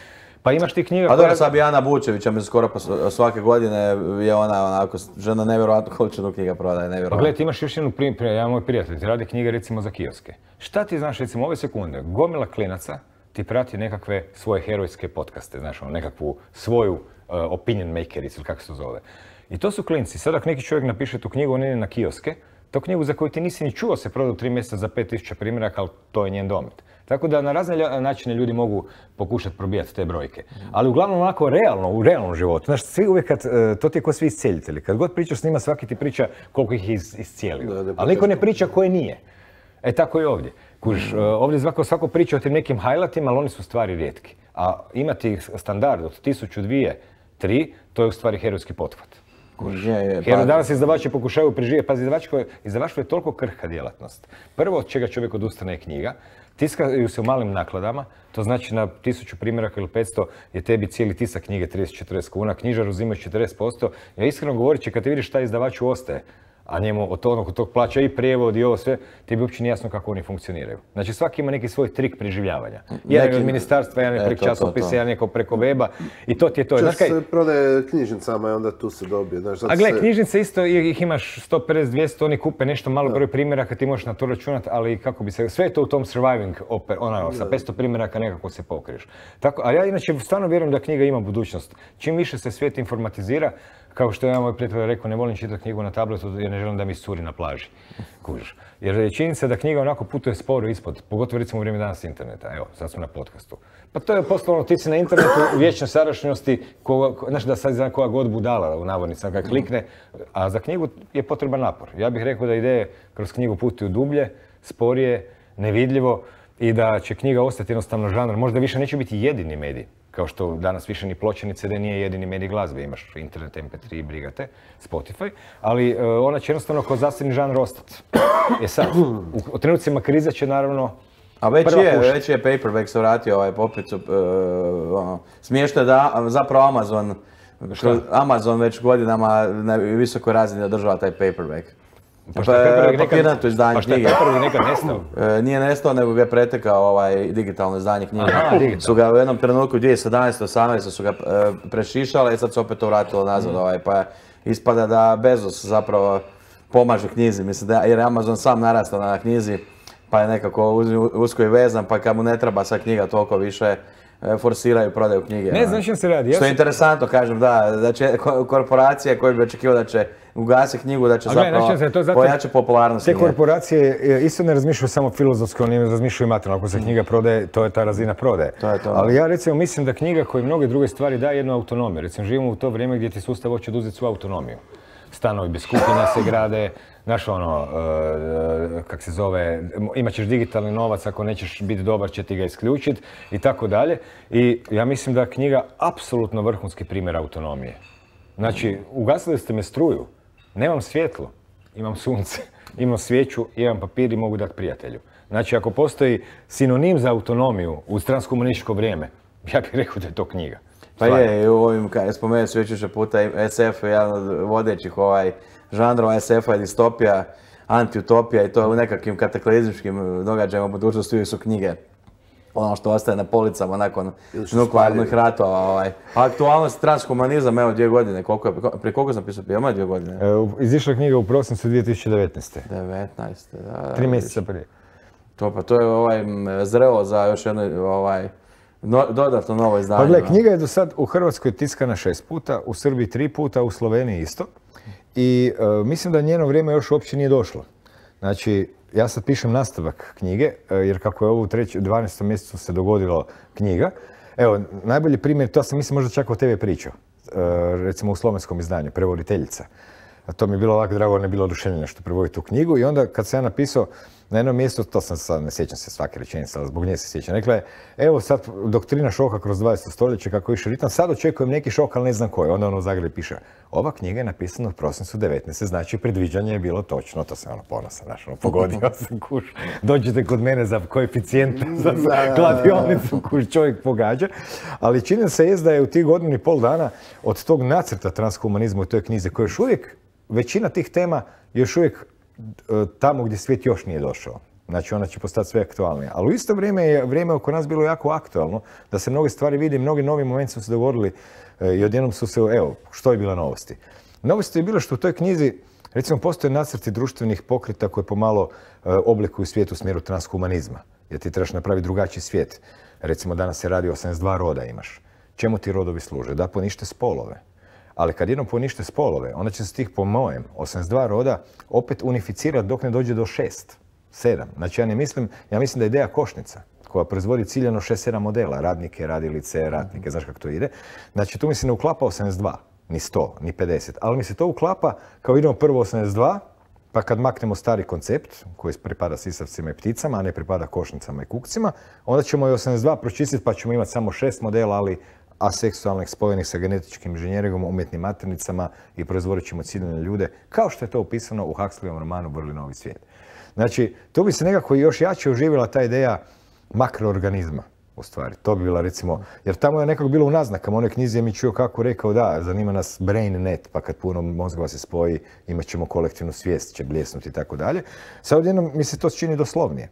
Pa imaš ti knjiga koja... A dobro, sad bi Ana Bučevića, mi skoro svake godine je ona onako, žena nevjerojatno količinu knjiga prodaje, nevjerojatno. Pa gledaj, ti imaš još jednu primjer, ja moj prijatelj, ti radi knjige recimo za kioske. Šta ti znaš recimo ove sekunde, gomila klinaca ti prati nekakve svoje herojske podcaste, znaš ono, nekakvu svoju opinion makericu ili kako se to zove. I to su klinci, sad ako neki čovjek napiše tu knjigu, on ide na kioske, tu knjigu za koju ti nisi ni čuo se prodao 3 mjeseca za 5000 primjeraka, ali to je njen domet. Tako da na razne načine ljudi mogu pokušati probijati te brojke. Ali uglavnom onako realno, u realnom životu. Znaš, svi uvijek to ti je kao svi iscijelitelji. Kad god pričaš s njima, svaki ti priča koliko ih je iscijelio. Ali niko ne priča koje nije. E tako i ovdje. Kužiš, ovdje svako priča o tim nekim highlightima, ali oni su stvari rijetki. A imati standard od 1000, 2, 3, to je u stvari herojski pothvat. Jer danas izdavači pokušaju preživjeti. Pazi, izdavaštvo je toliko krhka djelatnost. Prvo od čega čovjek odustane je knjiga. Tiskaju se u malim nakladama, to znači na 1000 primjeraka ili 500 je tebi cijeli tisak knjige 30-40 kuna, knjižar uzima 40%. Ja iskreno govoreći, kad ti vidiš šta izdavaču ostaje, a njemu od tog plaća i prijevod i ovo sve, ti bi uopće nije jasno kako oni funkcioniraju. Znači svaki ima neki svoj trik preživljavanja. Jedan je od ministarstva, jedan je preko časopisa, jedan je preko weba i to ti je to. Čas se prodaje knjižnicama i onda tu se dobije. A gle, knjižnice isto, ih imaš 150, 200, oni kupe nešto malo broj primjeraka, ti možeš na to računati, ali kako bi se, sve je to u tom surviving, sa 500 primjeraka nekako se pokriješ. A ja inače stvarno vjerujem da knjiga ima budućnost. Čim više se svijet informatizira, kao što je moj prijatelj rekao, ne volim čitati knjigu na tabletu jer ne želim da mi iscuri na plaži. Kužiš. Jer je činjenica da knjiga onako putuje sporo ispod, pogotovo recimo u vrijeme danas interneta. Evo, sad smo na podcastu. Pa to je postalo ti si na internetu u vječnoj sadašnjosti, znaš da sad zna koja god budala u navodnicama kad klikne, a za knjigu je potreban napor. Ja bih rekao da ideje kroz knjigu putuju dublje, sporije, nevidljivo i da će knjiga ostati jednostavno žanr. Možda više neće biti jedini medij. Kao što danas više ni ploča ni CD nije jedini medij glazbe, imaš internet, MP3, brigate, Spotify, ali ona će jednostavno kao zasebni žanr ostati. Sad, u trenucima krize će naravno a već je paperback se vratio opet, smiješno je da zapravo Amazon već godinama na visokoj razini održava taj paperback. Papirnato izdanje knjige. Pa šta je nekad nestao? Nije nestao, nego ga je pretekao digitalno izdanje knjige. Su ga u jednom trenutku 2017-18 su ga prešišale i sad se opet to vratilo nazad. Pa ispada da Bezos zapravo pomaže knjizi, mislim jer je Amazon sam narastao na knjizi. pa je nekako usko i vezan, pa kad mu ne treba sa knjiga toliko više forsiraju prodaju knjige. Ne znam što se radi. Što je interesantno, kažem, da će korporacije koje bi očekivao da će ugasiti knjigu, da će zapravo pojačati popularnost knjige. Te korporacije isto ne razmišljaju samo filozofsko, oni razmišljaju materijalno. Ako se knjiga prodaje, to je ta razina prodaje. Ali ja recimo mislim da knjiga koji mnoge druge stvari daje jednu autonomiju. Recimo živimo u to vrijeme gdje ti sustav hoće oduzeti svu autonomiju. Stanovi bez kupnja se grade, znaš ono, kak se zove, imat ćeš digitalni novac, ako nećeš biti dobar će ti ga isključiti i tako dalje. I ja mislim da je knjiga apsolutno vrhunski primjer autonomije. Znači, ugasili ste me struju, nemam svjetlo, imam sunce, imam svijeću, imam papir i mogu dati prijatelju. Znači, ako postoji sinonim za autonomiju u transkomunističko vrijeme, ja bih rekao da je to knjiga. Pa je, u ovim, spomenuo se već više puta, SF je jedan od vodećih žanrova, SF-a je distopija, antiutopija i to u nekakvim kataklizmičkim događajima u budućnosti su knjige. Ono što ostaje na policama nakon nuklearnih ratova. Aktualnost transhumanizam, evo 2 godine, prije koliko sam pisao, ima 2 godine? Izišla je knjiga u prosincu 2019. 19. da. 3 mjeseca prije. To je zrelo za još jedno dodatno novo izdanje. Pa gledaj, knjiga je do sad u Hrvatskoj tiskana 6 puta, u Srbiji 3 puta, u Sloveniji isto. I mislim da njeno vrijeme još uopće nije došlo. Znači, ja sad pišem nastavak knjige, jer kako je ovo u 12. mjesecu se dogodilo knjiga. Evo, najbolji primjer, to sam mislim možda čak o tebi pričao. Recimo u slovenskom izdanju, prevoditeljica. A to mi je bilo ovako drago, ne bilo oduševljeno što prevoditi tu knjigu. I onda kad sam ja napisao na jednom mjestu, to sam sad, ne sjećam se svake rečenice, ali zbog nje se sjećam. Rekla je, evo sad doktrina šoka kroz 20. stoljeće, kako je išao ritam, sad očekujem neki šok, ali ne znam koji. Onda ono u Zagrebu piše, ova knjiga je napisana u prosincu 19. Znači predviđanje je bilo točno, to sam ponosan, pogodio sam kuš. Dođete kod mene za koeficijent, za kladionicu, kuš čovjek pogađa. Ali čini se jest da je u tih 1,5 dana od tog nacrta transhumanizma u toj knjizi, koja još uvijek, većina tih tema još uvijek tamo gdje svijet još nije došao. Znači ona će postati sve aktualnije. Ali u isto vrijeme je vrijeme oko nas bilo jako aktualno, da se mnoge stvari vidi, mnogi novi momenti su se dogodili i odjednom su se, evo, što je bila novosti? Novosti je bilo što u toj knjizi, recimo, postoje nacrti društvenih pokreta koje pomalo oblikuju svijet u smjeru transhumanizma. Jer ti trebaš napraviti drugačiji svijet. Recimo danas se radi 82 roda imaš. Čemu ti rodovi služe? Da ponište spolove. Ali kad jednom ponište spolove, onda će se tih, po mojem, 82 roda opet unificirati dok ne dođe do 6, 7. Znači ja mislim da je ideja košnica koja proizvodi ciljano 6-7 modela, radnike, radilice, ratnike, znaš kako to ide. Znači tu mi se ne uklapa 82, ni 100, ni 50, ali mi se to uklapa kao idemo prvo 82, pa kad maknemo stari koncept koji pripada sisavcima i pticama, a ne pripada košnicama i kukcima, onda ćemo i 82 pročistiti pa ćemo imati samo 6 modela, ali aseksualnih spojenih sa genetičkim inženjeringom, umjetnim maternicama i proizvodit ćemo ciljane ljude, kao što je to opisano u Huxleyovom romanu Vrli novi svijet. Znači, tu bi se nekako još jače oživjela ta ideja makroorganizma, u stvari. To bi bila, recimo, jer tamo je nekako bilo u naznakama, u onoj knjizi je mi čuo kako rekao, da, zanima nas brain net, pa kad puno mozgova se spoji, imat ćemo kolektivnu svijest, će bljesnuti i tako dalje. Sad odjednom mi se to čini doslovnije.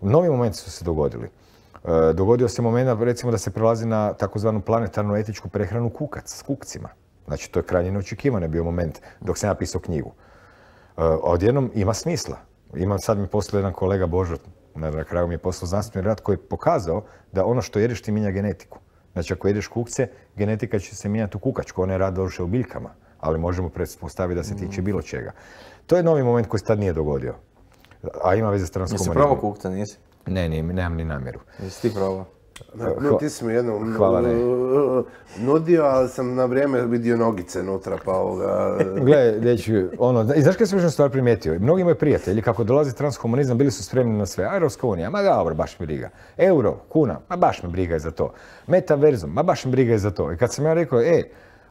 Novi momenti su se dogodili. Dogodio se moment, recimo, da se prelazi na takozvanu planetarnu etičku prehranu s kukcima. Znači, to je krajnje neočekivano bio moment dok sam ja pisao knjigu. Odjednom ima smisla. Sad mi poslao jedan kolega Božo, na kraju mi je poslao znanstveni rad koji je pokazao da ono što jedeš ti mijenja genetiku. Znači, ako jedeš kukce, genetika će se mijenjati u kukačku, ona je rad došao u biljkama, ali možemo pretpostaviti da se tiče bilo čega. To je novi moment koji se tad nije dogodio, a ima veze s transhumanizmom. Nisi probao kukca, nisi? Ne, nemam ni namjeru. Jesi ti probao? Ti si mi jednom nudio, ali sam na vrijeme vidio nogice unutra, pa ovoga... Gle, dječki, i znaš kaj sam još stvar primijetio? Mnogi moji prijatelji, kako dolazi transhumanizam, bili su spremni na sve. Europska unija, ma dobro, baš me briga. Euro, kuna, ma baš me briga i za to. Metaverzum, ma baš me briga i za to. I kad sam ja rekao,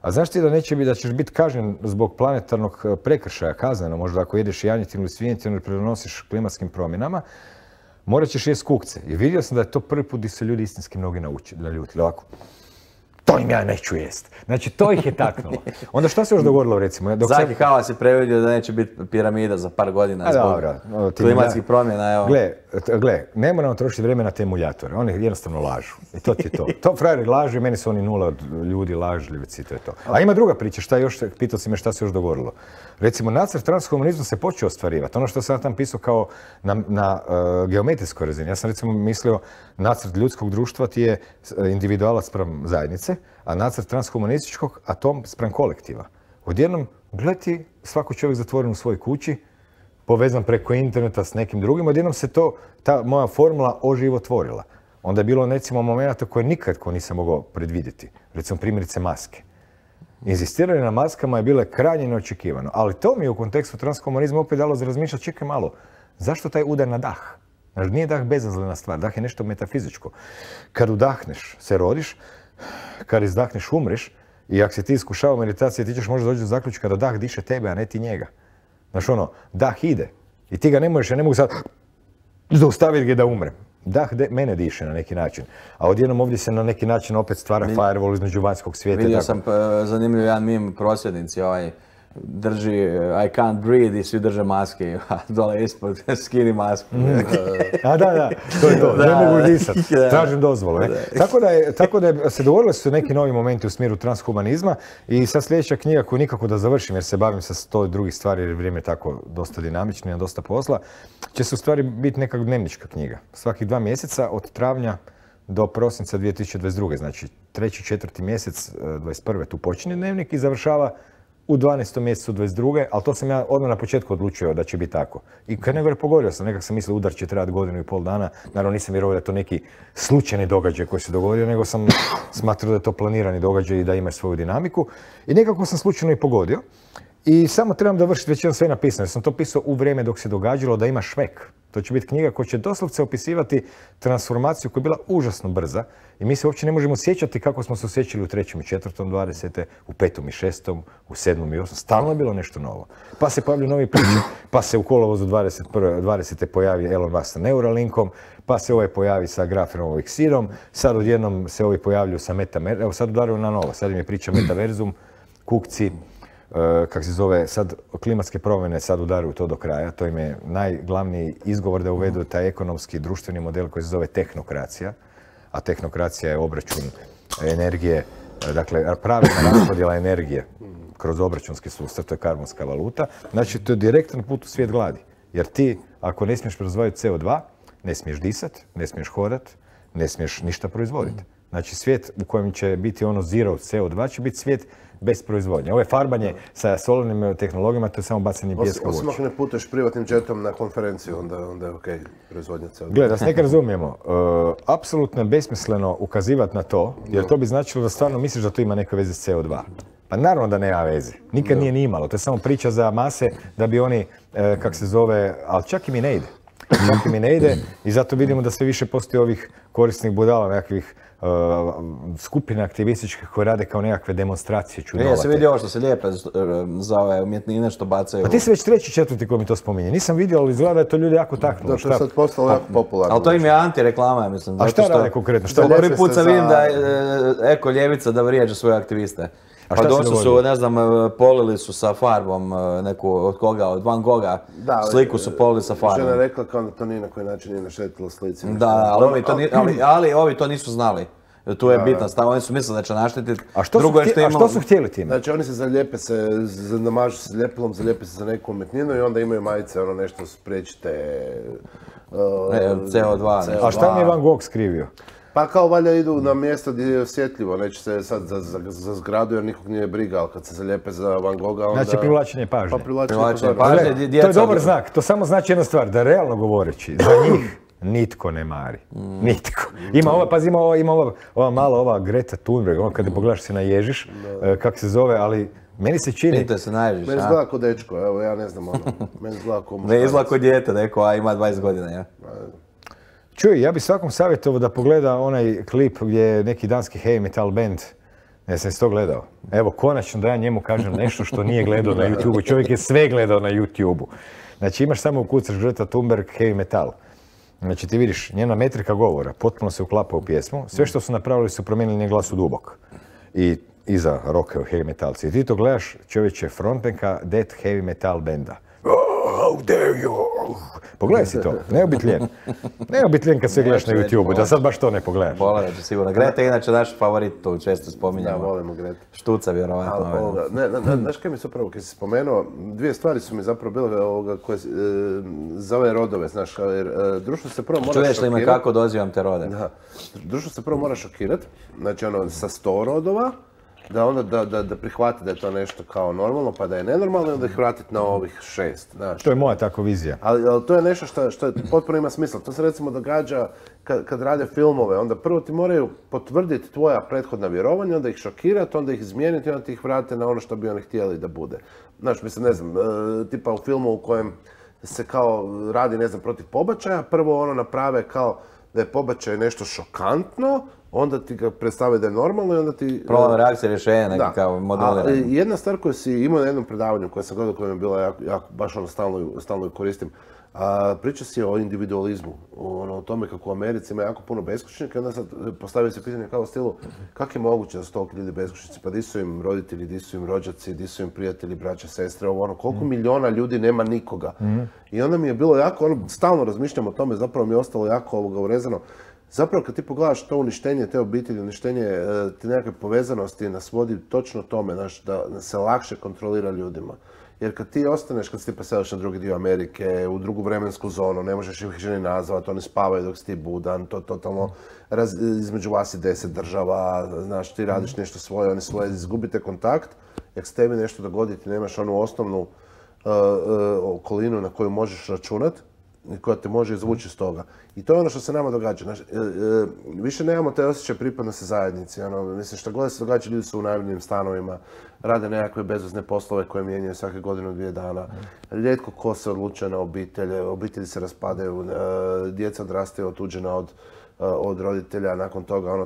a znaš ti da ćeš biti kažnjen zbog planetarnog prekršaja, kazneno, možda ako jedeš janjetinu ili svinjetinu ili pridonosiš klimatskim promjenama, morat ćeš jest kukce. I vidio sam da je to prvi put gdje se ljudi istinski mnogi naljutili. Ovako. to im ja neću jest. Znači, to ih je taknulo. Onda šta se još dogodilo, recimo? Zaki Halas je previdio da neće biti piramida za par godina zbog klimatskih promjena, evo. Gle, ne moramo trošiti vremena na te muljatore, oni jednostavno lažu. I to ti je to. To frajeri lažu i meni su oni nula ljudi lažljivici, to je to. A ima druga priča, šta još, pitao si me šta se još dogodilo. Recimo, nacrt transhumanizma se počeo ostvarivati. Ono što sam tam pisao kao na geometrijskoj razini. Ja sam recimo mislio, nacrt ljudskog društva ti je individualac spram zajednice, a nacrt transhumanističkog atom spram kolektiva. Odjednom, gledaj, svako čovjek zatvoren u svojoj kući, povezan preko interneta s nekim drugim, odjednom se ta moja formula oživotvorila. Onda je bilo, recimo, momenta koje nikad nisam mogao predvidjeti. Recimo, primjerice maske. Inzistiranje na maskama je bilo krajnje neočekivano, ali to mi je u kontekstu transhumanizma opet dalo za razmišljati, čekaj malo, zašto taj udar na dah? Znači, nije dah bezazlena stvar, dah je nešto metafizičko. Kad udahneš, se rodiš, kad izdahneš, umreš, i ako se ti iskušava meditacije, ti ćeš možda doći do zaključka da dah diše tebe, a ne ti njega. Znaš dah ide i ti ga ne možeš, ja ne mogu sad zaustaviti ga da umrem. Dah mene diše na neki način, a odjednom ovdje se na neki način opet stvara firewall između vanjskog svijeta. Vidio sam zanimljiv jedan mim, prosvjednici drži I can't breathe i svi drže maske, a dole ispod skini masku. A da, to je to, ne mogu disat, tražim dozvolu. Tako da se dogovorili su neki novi momenti u smjeru transhumanizma i sad sljedeća knjiga koju nikako da završim jer se bavim sa 100 drugih stvari jer je vrijeme tako dosta dinamično i dosta posla, će se u stvari biti neka dnevnička knjiga. Svakih 2 mjeseca od travnja do prosinca 2022. Znači 3. 4. mjesec 21. tu počinje dnevnik i završava u 12. mjesecu 22. ali to sam ja odmah na početku odlučio da će biti tako. I kad nego je pogodio sam, nekak sam mislio udar će trajati 1.5 godina, naravno nisam vjerovao da je to neki slučajni događaj koji se dogodio, nego sam smatrao da je to planirani događaj i da ima svoju dinamiku. I nekako sam slučajno i pogodio. I samo trebam dovršiti, već jedan sve napisano, jer sam to pisao u vrijeme dok se događalo da ima švek. To će biti knjiga koja će doslovce opisivati transformaciju koja je bila užasno brza i mi se uopće ne možemo sjećati kako smo se osjećali u 3. i 4. 20. u 5. i 6. u 7. i 8. Stalno je bilo nešto novo. Pa se pojavljaju novi priče, pa se u kolovozu 20. pojavi Elon Musk sa Neuralinkom, pa se ovaj pojavi sa grafenom eksidom, sad odjednom se ovi pojavljuju sa metaverzum, evo sad udaraju na novo, sad im je priča metaverzum, kukci, kak se zove, sad klimatske promjene sad udaruju to do kraja, to im je najglavniji izgovor da uvedu taj ekonomski društveni model koji se zove tehnokracija, a tehnokracija je obračun energije, dakle pravilna raspodjela energije kroz obračunski sustav, to je karbonska valuta, znači to je direktan put u svijet gladi, jer ti ako ne smiješ proizvoditi CO2, ne smiješ disat, ne smiješ hodat, ne smiješ ništa proizvoditi. Znači svijet u kojem će biti ono zero CO2 će biti svijet bez proizvodnje. Ovo je farbanje sa solarnim tehnologijama, to je samo bacanje pijeska u oči. Osim ako ne putuješ privatnim džetom na konferenciju, onda je okej proizvodnja CO2. Gle, da se nekaj razumijemo, apsolutno je besmisleno ukazivati na to, jer to bi značilo da stvarno misliš da to ima neke veze s CO2. Pa naravno da nema veze. Nikad nije ni imalo. To je samo priča za mase da bi oni, kak se zove, ali čak i mi ne ide. Čak i mi ne ide i zato vidimo da sve više postoji ovih korisnih budala, nekakvih skupine aktivističke koje rade kao nekakve demonstracije čudovate. Ja sam vidio ovo što se lijepe za ove umjetnine što bacaju. Pa ti si već 3. 4. koji mi to spominje. Nisam vidio, ali izgleda da je to ljudi jako taknulo. Da, to je sad postalo jako popularno. Ali to im je antireklama, ja mislim. A šta rade konkretno? Prvi put sam vidim da eko-ljevica da vrijeđa svoje aktiviste. Pa došli su, ne znam, polili su sa farbom neku, od koga, od Van Gogha, sliku su polili sa farbom. Žena rekla kao da to ni na koji način nije naštetilo slici. Da, ali ovi to nisu znali. Tu je bitna stvar, oni su mislili da će naštetiti. A što su htjeli time? Znači oni se zalijepe se, namažu se ljepilom, zalijepe se za neku umjetninu i onda imaju majice, ono nešto spriječite CO2. A šta mi je Van Gogh skrivio? Pa kao valjda idu na mjesto gdje je osjetljivo, neće se sad za zgradu jer nikog nije briga, ali kad se zalijepe za Van Gogha onda... Znači privlačenje pažnje. Pa privlačenje pažnje. To je dobar znak, to samo znači jedna stvar, da realno govoreći, za njih nitko ne mari. Nitko. Ima ova Greta Thunberg, ono kada pogledaš se naježiš, kak se zove, ali meni se čini... Vidite se naježiš, Meni izgleda ko dečko, evo ja ne znam ono. Meni izgleda ko muškarac. Ne izgleda ko dijete, neko, a ima 20 godina, ja. Čuj, ja bih svakom savjetovao da pogleda onaj klip gdje je neki danski heavy metal band. Ja sam to gledao. Evo, konačno da ja njemu kažem nešto što nije gledao na YouTube-u. Čovjek je sve gledao na YouTube-u. Znači imaš samo ukucaš Greta Thunberg heavy metal. Znači ti vidiš, njena metrika govora potpuno se uklapa u pjesmu. Sve što su napravili su promijenili njen glas u dubok. i iza rockaju heavy metalci. I ti to gledaš, čovječe, frontmenka death heavy metal benda. Oh, how dare you! Pogledaj si to, neobitljen. Neobitljen kad se gledaš na YouTube-u, da sad baš to ne pogledaš. Pogledat ću sigurno. Greta je inače naš favorit, tu često spominjamo. Da, volimo Greta. Štuca vjerovatno. Znaš kaj mi se upravo, kad si spomenuo, dvije stvari su mi zapravo bile koje za ove rodove, znaš, jer društvo se prvo mora Čuješ li me kako dozivam te rode? Da, društvo se prvo mora šokirati, znači sa 100 rodova, da onda da prihvati da je to nešto kao normalno, pa da je nenormalno i onda ih vratiti na ovih 6. Znaš. To je moja tako vizija. Ali to je nešto što potpuno ima smisla. To se recimo događa kad rade filmove. Onda prvo ti moraju potvrditi tvoja prethodna vjerovanja, onda ih šokirati, onda ih izmijeniti i onda ti ih vrate na ono što bi oni htjeli da bude. Znaš, mislim, ne znam, tipa u filmu u kojem se kao radi, ne znam, protiv pobačaja, prvo ono naprave kao da je pobačaj nešto šokantno, onda ti ga predstave da je normalno i onda ti... Problem reakcije rješenja, neki kao modeliranje. Jedna stvar koju si imao na jednom predavanju koje sam gledao, koja mi je bila jako baš ono stalno ju koristim, priča si o individualizmu, o tome kako u Americi ima jako puno beskućnika i onda sad postavio se pitanje kao u stilu kako je moguće da su toliko ljudi beskućnici, pa di su im roditelji, di su im rođaci, di su im prijatelji, braća, sestre, koliko miliona ljudi nema nikoga. I onda mi je bilo jako, stalno razmišljam o tome, zapravo mi je ostalo jako urezano. Zapravo kad ti pogledaš to uništenje te obitelji, uništenje te nekakve povezanosti nas vodi točno tome, znaš, da se lakše kontrolira ljudima. Jer kad ti ostaneš, kad se ti preseliš na drugi dio Amerike, u drugu vremensku zonu, ne možeš ih ženi nazvati, oni spavaju dok si ti budan, to totalno između vas i 10 država, znaš, ti radiš nešto svoje, oni svoje, izgubite kontakt, jer se tebi nešto dogodi, ti nemaš onu osnovnu okolinu na koju možeš računati, koja te može izvući iz toga. I to je ono što se nama događa. Znači, više nemamo taj osjećaj pripadnosti zajednici. Mislim, što god se događa, ljudi su u najemnim stanovima, rade nekakve bezvezne poslove koje mijenjaju svake godine 2 dana. Rijetko ko se odlučuje na obitelji se raspadaju, djeca odrastaju otuđena od roditelja, nakon toga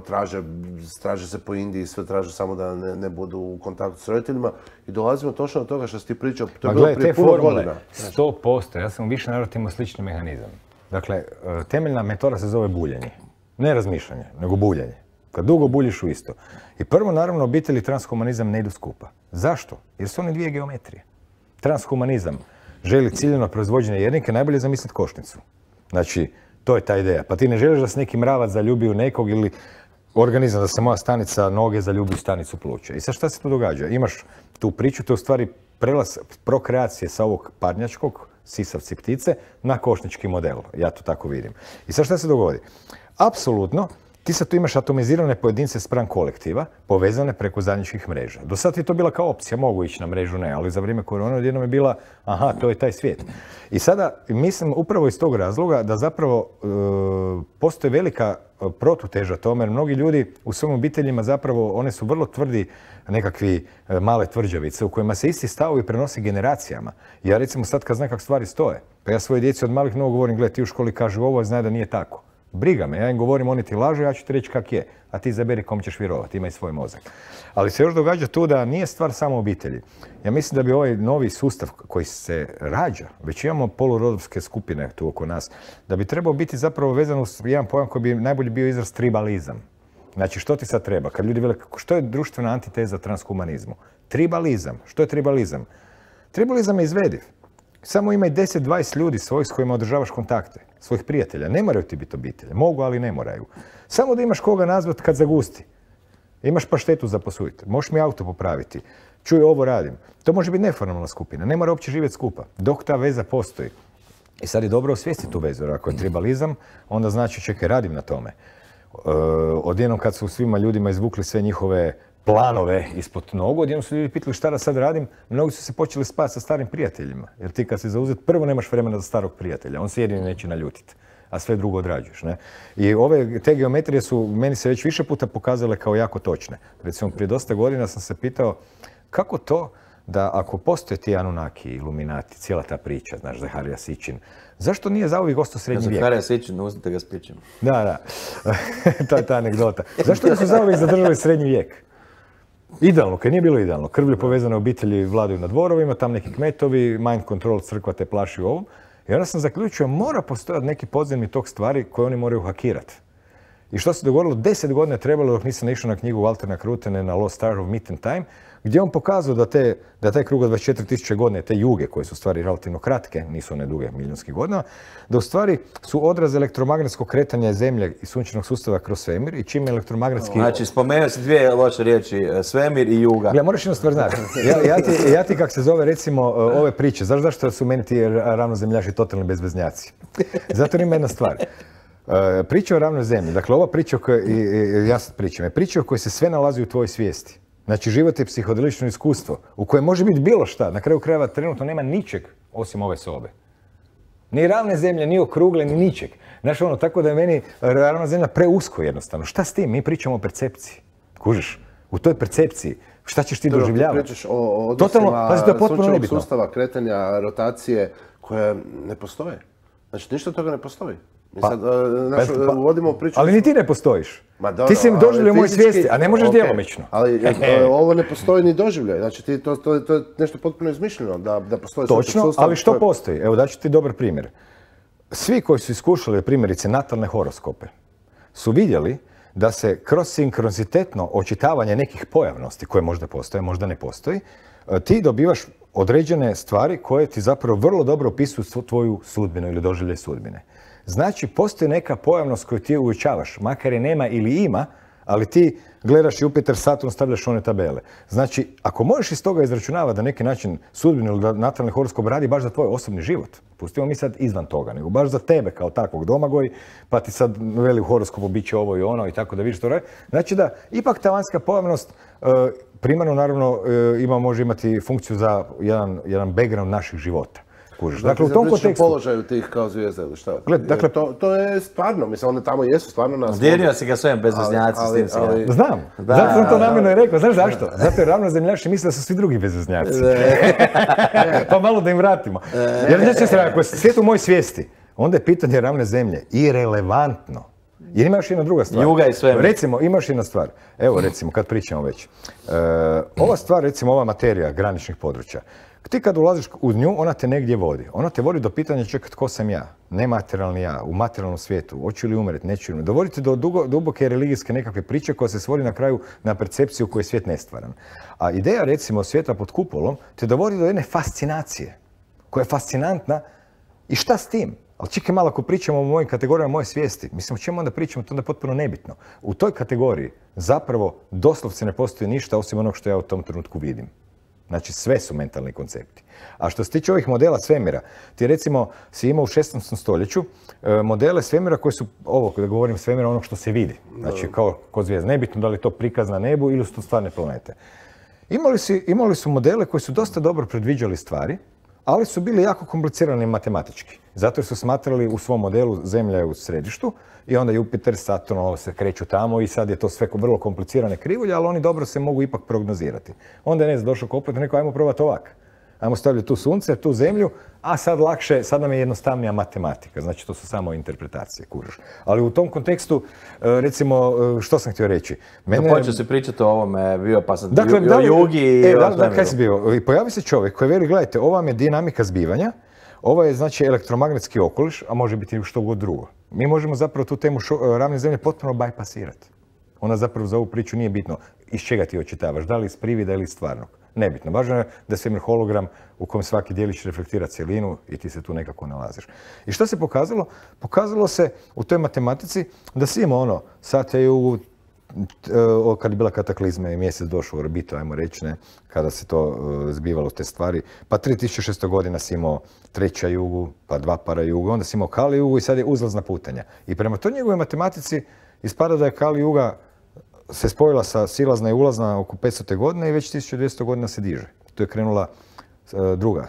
traže se po Indiji, sve traže samo da ne budu u kontaktu s roditeljima i dolazimo točno do toga što si ti pričao, to je bilo prije puno godina. 100%, ja sam u više navrata imao slični mehanizam. Dakle, temeljna metoda se zove buljenje. Ne razmišljanje, nego buljenje. Kad dugo buljiš u isto. I prvo, naravno, obitelj i transhumanizam ne idu skupa. Zašto? Jer su oni dvije geometrije. Transhumanizam želi ciljeno proizvođenje jednike, najbolje zamisliti košnicu. Znači, to je ta ideja. Pa ti ne želiš da se neki mravac zaljubi u nekog ili organizam da se moja stanica noge zaljubi u stanicu pluća. I sad šta se tu događa? Imaš tu priču, to je u stvari prelaz prokreacije sa ovog parnjačkog, sisavci ptice, na košnički model. Ja to tako vidim. I sad šta se dogodi? Apsolutno, ti sad tu imaš atomizirane pojedince spram kolektiva, povezane preko zajedničkih mreža. Do sad je to bila kao opcija, mogu ići na mrežu, ne, ali za vrijeme korone odjednom je bila, aha, to je taj svijet. I sada mislim upravo iz tog razloga da zapravo postoji velika protuteža tome, jer mnogi ljudi u svojim obiteljima zapravo, one su vrlo tvrdi nekakvi male tvrđavice u kojima se isti stavovi prenose generacijama. Ja recimo sad kad znam kako stvari stoje, pa ja svoje djeci od malih nogu govorim, gledaj, ti u školi kažu ovo, znaj da nije tako. Briga me, ja im govorim, oni ti lažu, ja ću ti reći kak je, a ti izaberi kom ćeš vjerovati, imaj svoj mozak. Ali se još događa tu da nije stvar samo obitelji. Ja mislim da bi ovaj novi sustav koji se rađa, već imamo polurodovske skupine tu oko nas, da bi trebao biti zapravo vezan uz jedan pojam koji bi najbolje bio izraz tribalizam. Znači, što ti sad treba? Kad ljudi vele, što je društvena antiteza transhumanizmu? Tribalizam. Što je tribalizam? Tribalizam je izvediv. Samo imaj 10-20 ljudi svojih s kojima održavaš kontakte, svojih prijatelja. Ne moraju ti biti obitelje. Mogu, ali ne moraju. Samo da imaš koga nazvat kad zagusti. Imaš paštetu za posuditi. Možeš mi auto popraviti. Čuj, ovo radim. To može biti neformalna skupina. Ne mora uopće živjeti skupa. Dok ta veza postoji. I sad je dobro osvijestiti tu vezu. Ako je tribalizam, onda znači čekaj, radim na tome. Odjednom kad su svima ljudima izvukli sve njihove planove ispod nogu, odjednom su ljudi pitali šta da sad radim, mnogi su se počeli spati sa starim prijateljima. Jer ti kad si zauzet, prvo nemaš vremena za starog prijatelja, on se jedini neće naljutiti, a sve drugo odrađuješ. Ne? I te geometrije su meni se već više puta pokazale kao jako točne. Recimo, prije dosta godina sam se pitao kako to da ako postoje ti Anunnaki, Iluminati, cijela ta priča, znaš, Zaharija Sićin, zašto nije zauvijek ostao srednji vijek? Zaharija Sićin, uzmite ga s pićem. Da. To je ta anegdota. Zašto nisu zauvijek zadržali srednji vijek? Idealno, kad nije bilo idealno. Krvlje povezane obitelji vladaju na dvorovima, tam neki kmetovi, mind control, crkva te plaši u ovom. I onda sam zaključio, mora postojati neki podzemni tok stvari koje oni moraju hakirati. I što se dogodilo? 10 godina je trebalo dok nisam išao na knjigu Waltera Krutene na Lost Star of Meat and Time, gdje on pokazao da taj krug od 24.000 godine, te juge koje su u stvari relativno kratke, nisu one duge milijunskih godina, da u stvari su odraz elektromagnetskog kretanja Zemlje i sunčanog sustava kroz svemir i čim elektromagnetski... Znači, spomenuo si dvije loše riječi, svemir i juga. Ja, moraš jednu stvar znati. Ja ti kak se zove, recimo, ove priče, znaš zašto su meni ti ravnozemljaši totalni bezveznjaci? Zato ima jedna stvar. Priča o ravnoj zemlji, dakle ova priča o kojoj ja sad pričam, je priča o kojoj se sve nalazi u tvojoj svijesti. Znači život je psihodelično iskustvo u kojem može biti bilo šta. Na kraju krajeva trenutno nema ničeg osim ove sobe. Ni ravne zemlje, ni okrugle, ni ničeg. Znaš ono, tako da je meni ravna zemlja preusko jednostavno. Šta s tim? Mi pričamo o percepciji. Kužiš? U toj percepciji. Šta ćeš ti doživljavati? Ti pričaš o odnosima sunčevog sustava, kretanja, rotacije koje ne postoje. Znači ništa toga ne postoji. Mi sad uvodimo priču... Ali ni ti ne postojiš. Ti si mi doživljaj u mojoj svijesti, a ne možeš djelomično. Ali ovo ne postoji ni doživljaj. Znači to je nešto potpuno izmišljeno da postoji sunčev sustav. Točno, ali što postoji? Evo daću ti dobar primjer. Svi koji su iskušali primjerice natalne horoskope su vidjeli da se kroz sinkronizitetno očitavanje nekih pojavnosti koje možda postoje, možda ne postoji, ti dobivaš određene stvari koje ti zapravo vrlo dobro opisuju tvoju sudbinu ili doživljaj sudbine. Znači, postoji neka pojavnost koju ti uočavaš, makar je nema ili ima, ali ti gledaš Jupiter, Saturn, stavljaš one tabele. Znači, ako možeš iz toga izračunavati da neki način sudbinu ili natalni horoskop radi baš za tvoj osobni život, pustimo mi sad izvan toga, nego baš za tebe kao takvog Domagoj, pa ti sad veli u horoskopu bit će ovo i ono i tako da vidiš to radi. Znači da ipak ta vanjska pojavnost primarno naravno može imati funkciju za jedan background naših života. Dakle, u tom kontekstu... položaju tih kao zvijezda ili šta? Dakle, to je stvarno, mislim, one tamo jesu stvarno nas... Dijelio si ga svojim bezveznjaci s tim si ga... Znam, zato sam to namjerno i rekao, znaš zašto? Zato je ravnozemljaši misle da su svi drugi bezveznjaci. Pa malo da im vratimo. Jer znači, ako je svijet u mojoj svijesti, onda je pitanje ravne zemlje irelevantno. Jer ima još jedna druga stvar. Juga i sve. Recimo, imaš jedna stvar. Evo, recimo, kad pričamo već. Ova stvar, recimo, ova materija graničnih područja. Ti kad ulaziš u nju, ona te negdje vodi. Ona te vodi do pitanja čekaj tko sam ja, nematerijalni ja, u materijalnom svijetu, hoću li umreti, neću li umreti. Dovodite do duboke religijske nekakve priče koja se svodi na kraju na percepciju koju je svijet nestvaran. A ideja recimo svijeta pod kupolom te dovodi do jedne fascinacije koja je fascinantna i šta s tim? Ali čekaj malo ako pričamo o mojim kategorijama moje svijesti, mislim o čemu onda pričamo, to onda je potpuno nebitno. U toj kategoriji zapravo doslovce ne postoji ništa osim onog što ja u tom trenutku vidim. Znači sve su mentalni koncepti. A što se tiče ovih modela svemira, ti recimo si imao u 16. stoljeću modele svemira koji su, ovo kada govorim svemira, ono što se vidi. Znači kao kod zvijezda. Nebitno da li je to prikaz na nebu ili su to stvarne planete. Imali su modele koji su dosta dobro predviđali stvari, ali su bili jako komplicirani matematički. Zato su smatrali u svom modelu Zemlja je u središtu i onda Jupiter, Saturn, ovo se kreću tamo i sad je to sve vrlo komplicirane krivulje, ali oni dobro se mogu ipak prognozirati. Onda je došao koplet i rekao ajmo probati ovak. Ajmo stavljati tu sunce, tu zemlju, a sad lakše, sad nam je jednostavnija matematika. Znači to su samo interpretacije, kužiš. Ali u tom kontekstu, recimo, što sam htio reći? Počeo si pričati o ovome, bio pa sam o jugi i o svemiru. Kaj si bio? Pojavi se čovjek koji veli, gledajte, ovo vam je dinamika zbivanja, ovo je znači elektromagnetski okoliš, a može biti što god drugo. Mi možemo zapravo tu temu ravne zemlje potpuno bajpasirati. Ona zapravo za ovu priču nije bitno iz čega ti očitavaš, da li iz privida ili iz stvarnog. Nebitno. Važno je da je svemir hologram u kojem svaki dijelić reflektira cjelinu i ti se tu nekako nalaziš. I što se pokazalo? Pokazalo se u toj matematici da si imao ono, sad je kad je bila kataklizma i mjesec došao u orbitu, ajmo reći, ne, kada se to zbivalo te stvari, pa 3600 godina si imao treća jugu, pa dva para jugu, onda si imao Kali jugu i sad je uzlazna putanja. I prema toj njegovoj matematici ispada da je Kali juga se spojila sa silazna i ulazna oko 500. godine i već 1200 godina se diže. To je krenula druga,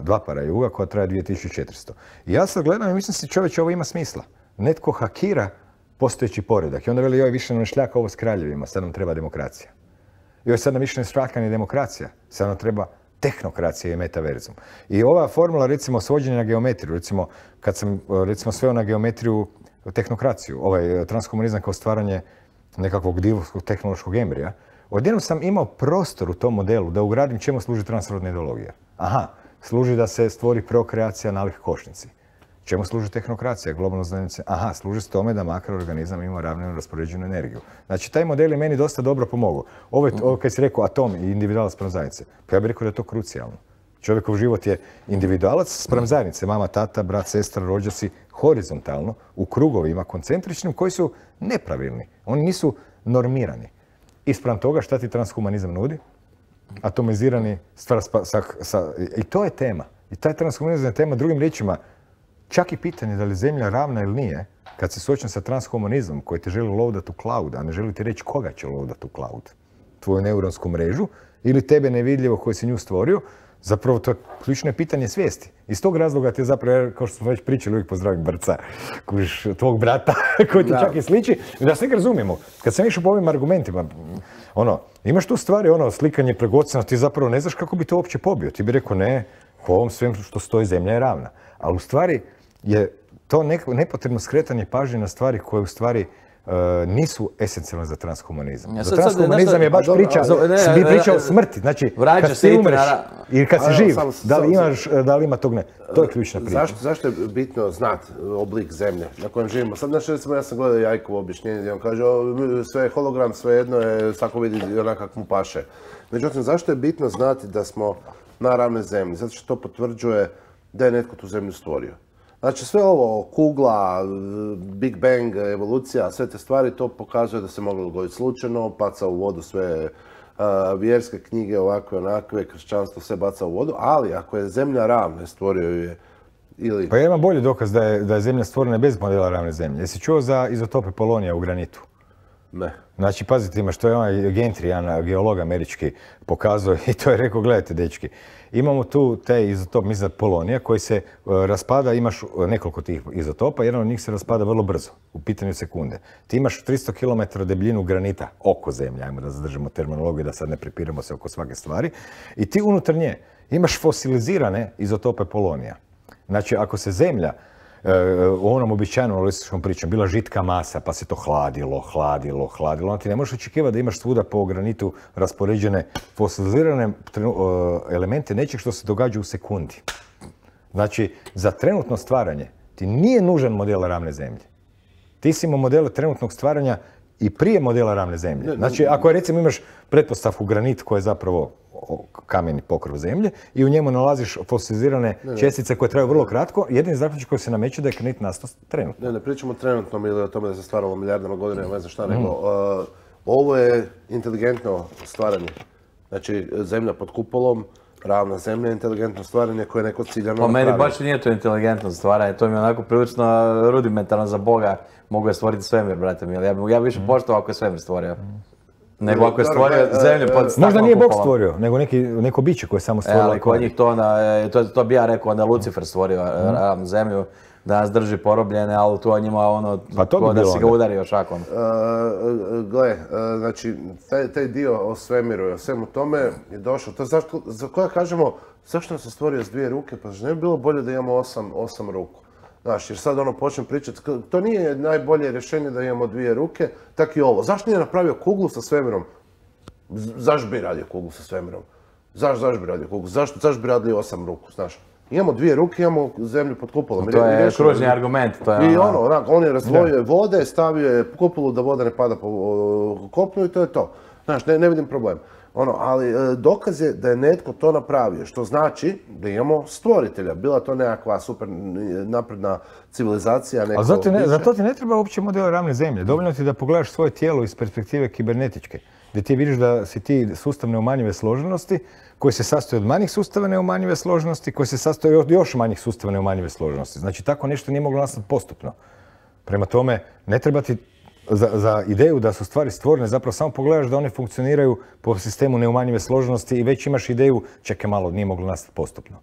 dva para juga koja traje 2400. I ja sad gledam i mislim si čovječe ovo ima smisla. Netko hakira postojeći poredak i onda veli joj više nam ne šljaka ovo s kraljevima, sad nam treba demokracija. Joj sad nam više ne šljaka ni demokracija, sad nam treba tehnokracija i metaverzum. I ova formula recimo svođenja na geometriju, recimo kad sam recimo sveo na geometriju tehnokraciju, ovaj transkomunizam kao stvaranje nekakvog divovskog tehnološkog embrija, odjednom sam imao prostor u tom modelu da ugradim čemu služi transrodna ideologija. Aha, služi da se stvori prokreacija nalik košnici. Čemu služi tehnokracija, globalno znanje? Aha, služi s tome da makroorganizam ima ravnomjerno raspoređenu energiju. Znači, taj model je meni dosta dobro pomogao. Ovo kad si rekao atom i individualac spram zajednice, pa ja bih rekao da je to krucijalno. Čovjekov život je individualac spram zajednice, mama, tata, brat, sestra, rođaci, horizontalno, u krugovima koncentričnim koji su nepravilni. Oni nisu normirani. I spram toga šta ti transhumanizam nudi? Atomizirani stvar i to je tema. I taj transhumanizam je tema, drugim riječima, čak i pitanje da li je zemlja ravna ili nije, kad se suočen sa transhumanizmom koji te želi loadati u cloud, a ne želi ti reći koga će loadati u cloud, tvoju neuronsku mrežu ili tebe nevidljivo koji si nju stvorio, zapravo to je ključno pitanje svijesti. Iz tog razloga ti je zapravo, kao što smo već pričali, uvijek pozdravim Brca, tvog brata, koji ti čak i sliči, da sve razumijemo. Kad sam išao po ovim argumentima, imaš tu stvari, slikanje preko oceana, ti zapravo ne znaš kako bi to uopće pobio. Ti bi rekao ne, po ovom svem što stoji zemlja je ravna. Ali u stvari je to nepotrebno skretanje pažnje na stvari koje u stvari nisu esencijalne za transhumanizam. Za transhumanizam je baš priča o smrti. Znači, kad ti umreš ili kad si živ, da li ima tog ne. To je ključna priča. Zašto je bitno znati oblik zemlje na kojem živimo? Sad, znači, recimo, ja sam gledao Jajkovo objašnjenje gdje on kaže sve je hologram, sve jedno je, svako vidi onak kak mu paše. Međutim, zašto je bitno znati da smo na ravnoj zemlji? Zato što to potvrđuje da je netko tu zemlju stvorio. Znači sve ovo, kugla, Big Bang, evolucija, sve te stvari, to pokazuje da se moglo dogoditi slučajno, baca u vodu sve vjerske knjige, ovakve, onakve, kršćanstvo, sve baca u vodu, ali ako je zemlja ravna, stvorio ju je ili... Pa ja imam bolji dokaz da je zemlja stvorena bez modela ravne zemlje. Jesi čuo za izotope polonija u granitu? Ne. Znači, pazite ima što je onaj Gentry, jedan geolog američki, pokazao i to je rekao, gledajte dečki, imamo tu taj izotop, mislim polonija, koji se raspada, imaš nekoliko tih izotopa, jedan od njih se raspada vrlo brzo, u pitanju sekunde. Ti imaš 300 km debljinu granita oko zemlje, ajmo da zadržimo terminologiju, da sad ne prepiramo se oko svake stvari, i ti unutar nje imaš fosilizirane izotope polonija. Znači, ako se zemlja u onom običajnom analističkom pričom bila žitka masa, pa se to hladilo, onda ti ne možeš očekivati da imaš svuda po granitu raspoređene fosilizirane elemente nečeg što se događa u sekundi. Znači, za trenutno stvaranje ti nije nužan model ravne zemlje. Ti si imao modele trenutnog stvaranja i prije modela ravne zemlje. Znači, ako recimo imaš pretpostavku granit koja je zapravo kameni pokrov zemlje i u njemu nalaziš fosilizirane čestice koje traju vrlo kratko, jedini zaključak koji se nameće da je granit nastao trenutno. Ne pričamo trenutno ili o tome da se stvaralo milijardama godina, ne znam šta, nego ovo je inteligentno stvaranje. Znači, zemlja pod kupolom, ravna zemlja, inteligentno stvaranje koje je neko ciljano napravio. Po meni baš nije to inteligentno stvaranje, to mi je onako prilično rudimentarno za Boga. Mogu je stvoriti svemir, brate mi, ali ja bi više poštovao ako je svemir stvorio. Nego ako je stvorio zemlju pod staklenom kupolom. Možda nije Bog stvorio, nego neko biće koje je samo stvorilo. Ali kod njih to bi ja rekao, onda Lucifer stvorio ravnu zemlju, da nas drži porobljene, ali to njima ko da si ga udario šakom. Gle, znači, taj dio o svemiru i o svemu tome je došao. To je za koja kažemo, zašto nam se stvorio s 2 ruke? Pa ne bi bilo bolje da imamo 8 ruku. Znaš, jer sad počnem pričati, to nije najbolje rješenje da imamo 2 ruke, tak i ovo. Zašto nije napravio kuglu sa svemirom? Zašto bi radio kuglu sa svemirom? Zašto bi radio kuglu? Zašto bi radili 8 ruku, znaš? Imamo 2 ruke, imamo zemlju pod kupolom. To je kružni argument. I on je razdvojio vode, stavio je kupolu da voda ne pada po kopnu i to je to. Znaš, ne vidim problem. Ali dokaz je da je netko to napravio, što znači da imamo stvoritelja. Bila to nekakva super napredna civilizacija, neko biće. Zato ti ne treba uopće model ravne zemlje. Dovoljno ti da pogledaš svoje tijelo iz perspektive kibernetičke, gdje ti vidiš da si ti sustav neumanjive složenosti, koji se sastoji od manjih sustava neumanjive složenosti, koji se sastoji od još manjih sustava neumanjive složenosti. Znači, tako nešto nije moglo nastati postupno. Prema tome, ne treba ti za ideju da su stvari stvorene, zapravo samo pogledaš da one funkcioniraju po sistemu neumanjive složenosti i već imaš ideju, čekaj malo, nije moglo nastati postupno.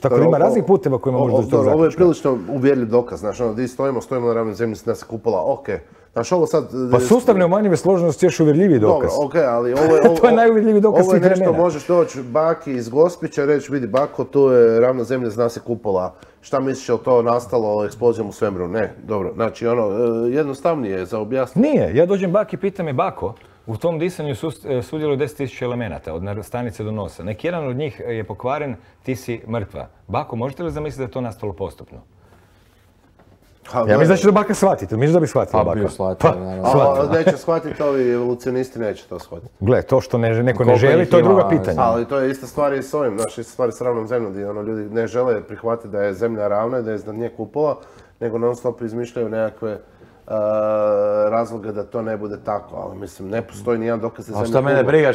Tako da ima raznih puteva kojima možeš doći do zaključka. Ovo je prilično uvjerljiv dokaz, znaš, di stojimo na ravnoj zemlji, nas je kupola, okej. Znaš, ovo sad... Pa sustav neumanjive složenosti je još uvjerljiviji dokaz. Dobro, okej, ali ovo je... To je najuvjerljiviji dokaz svih vremena. Ovo je nešto, možeš doći baki iz Gospića, reći, vidi bako, tu je ravna zemlja, zna se kupola. Šta misliš, je li to nastalo eksplozijom u svemiru? Ne, dobro, znači jednostavnije je za objasniti. Nije, ja dođem baki i pitam je bako, u tom disanju sudjeluje 10.000 elemenata, od stanice do nosa. Neki jedan od njih je pokvaren, ti si mrtva. Bako, možete li zamisliti da je to nastalo postupno? Ja mislim da će to baka shvatiti, misliš da bi shvatila baka? Pa bi shvatila, naravno. Neće shvatiti, ovi evolucionisti neće to shvatiti. Gle, to što neko ne želi, to je druga pitanja. Ali to je ista stvar i s ovim, ista stvar s ravnom zemljom, gdje ljudi ne žele prihvatiti da je zemlja ravna i da je iznad nje kupola, nego non stop izmišljaju nekakve razloga da to ne bude tako, ali mislim, ne postoji nijedan dokaz da je zemlja kugla. Šta mene briga,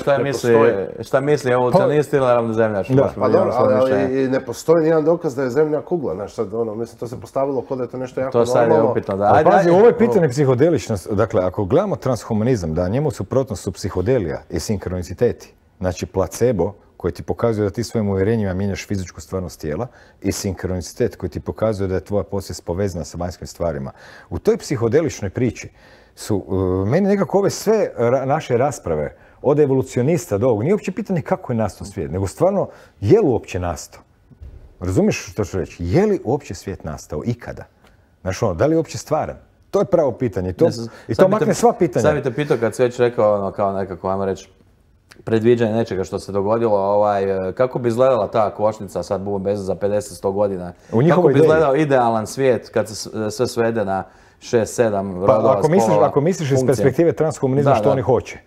šta misli evolucionist ili ravno zemljaš? Pa dobro, ali ne postoji nijedan dokaz da je zemlja kugla, znaš sad, mislim, to se postavilo kao da je to nešto jako normalno. To sad je upitno, da. Ali pazi, ovo je pitanje psihodeličnost, dakle, ako gledamo transhumanizam, da njemu suprotnost su psihodelija i sinkroniciteti, znači placebo, koji ti pokazuje da ti svojim uvjerenjima mijenjaš fizičku stvarnost tijela i sinkronicitet koji ti pokazuje da je tvoja podsvijest povezana sa vanjskim stvarima. U toj psihodeličnoj priči su meni nekako ove sve naše rasprave od evolucionista do ovog, nije uopće pitanje kako je nastao svijet, nego stvarno je li uopće nastao? Razumiješ što ću reći? Je li uopće svijet nastao ikada? Znaš da li je uopće stvaran? To je pravo pitanje i to makne sva pitanja. Sad bi te pitao kad si već rekao kao nekako, ajmo reći, predviđanje nečega što se dogodilo, kako bi izgledala ta košnica, sad budem bez za 50-100 godina, kako bi izgledao idealan svijet kad se sve svede na 6-7 rodova, spola, ako misliš iz perspektive transhumanizma što oni hoće.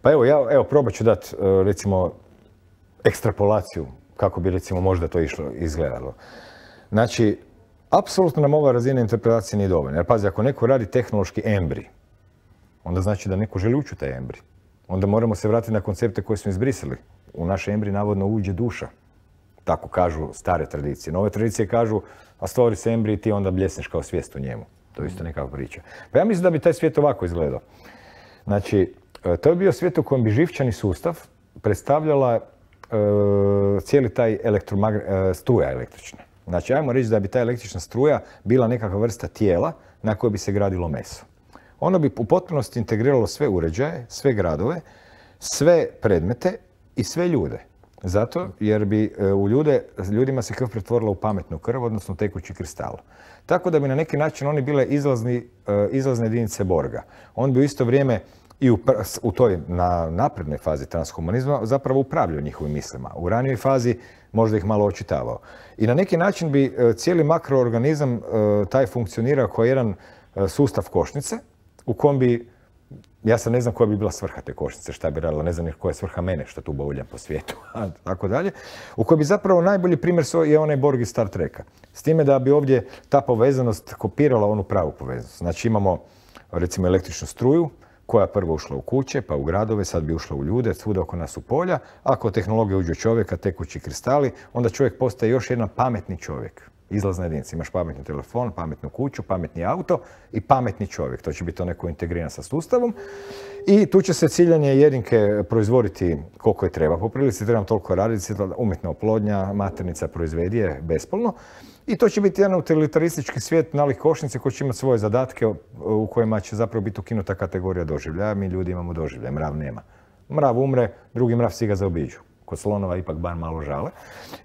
Pa evo, probat ću dati, recimo, ekstrapolaciju, kako bi, recimo, možda to izgledalo. Znači, apsolutno nam ova razina interpretacije nije dovoljna. Jer pazi, ako neko radi tehnološki embrij, onda znači da neko želi ući u taj embrij. Onda moramo se vratiti na koncepte koje smo izbrisali. U naš embrij navodno uđe duša. Tako kažu stare tradicije. Nove tradicije kažu, a stvori se embrij i ti onda bljesneš kao svijest u njemu. To je isto nekakva priča. Pa ja mislim da bi taj svijet ovako izgledao. Znači, to je bio svijet u kojem bi živčani sustav predstavljala cijeli taj struja električna. Znači, ajmo reći da bi ta električna struja bila nekakva vrsta tijela na kojoj bi se gradilo meso. Ono bi u potpunosti integriralo sve uređaje, sve gradove, sve predmete i sve ljude. Zato jer bi ljudima se krv pretvorila u pametnu krv, odnosno tekući kristal. Tako da bi na neki način oni bile izlazne jedinice Borga. On bi u isto vrijeme i u toj naprednoj fazi transhumanizma zapravo upravljao njihovim mislima. U ranijoj fazi možda ih malo očitavao. I na neki način bi cijeli makroorganizam taj funkcionirao kao jedan sustav košnice, u kom bi, ja sad ne znam koja bi bila svrha te košnice, šta bi radila, ne znam koja je svrha mene što tu bauljam po svijetu, tako dalje, u kojoj bi zapravo najbolji primjer je onaj Borg iz Star Treka. S time da bi ovdje ta povezanost kopirala onu pravu povezanost. Znači imamo recimo električnu struju koja je prvo ušla u kuće, pa u gradove, sad bi ušla u ljude, svuda oko nas u polja. Ako tehnologija uđe u čovjeka, tekući kristali, onda čovjek postaje još jedan pametni čovjek. Izlazna jedinica. Imaš pametni telefon, pametnu kuću, pametni auto i pametni čovjek. To će biti neko integriran sa sustavom. I tu će se ciljanje jedinke proizvoditi koliko je treba. Po prilici trebam toliko raditi, umjetna oplodnja, maternica proizvedi je bespolno. I to će biti jedan utilitaristički svijet nalik košnice koji će imati svoje zadatke u kojima će zapravo biti ukinuta kategorija doživljaja. Mi ljudi imamo doživljaj, mrav nema. Mrav umre, drugi mrav si ga zaobiđu. Kod slonova ipak bar malo žale.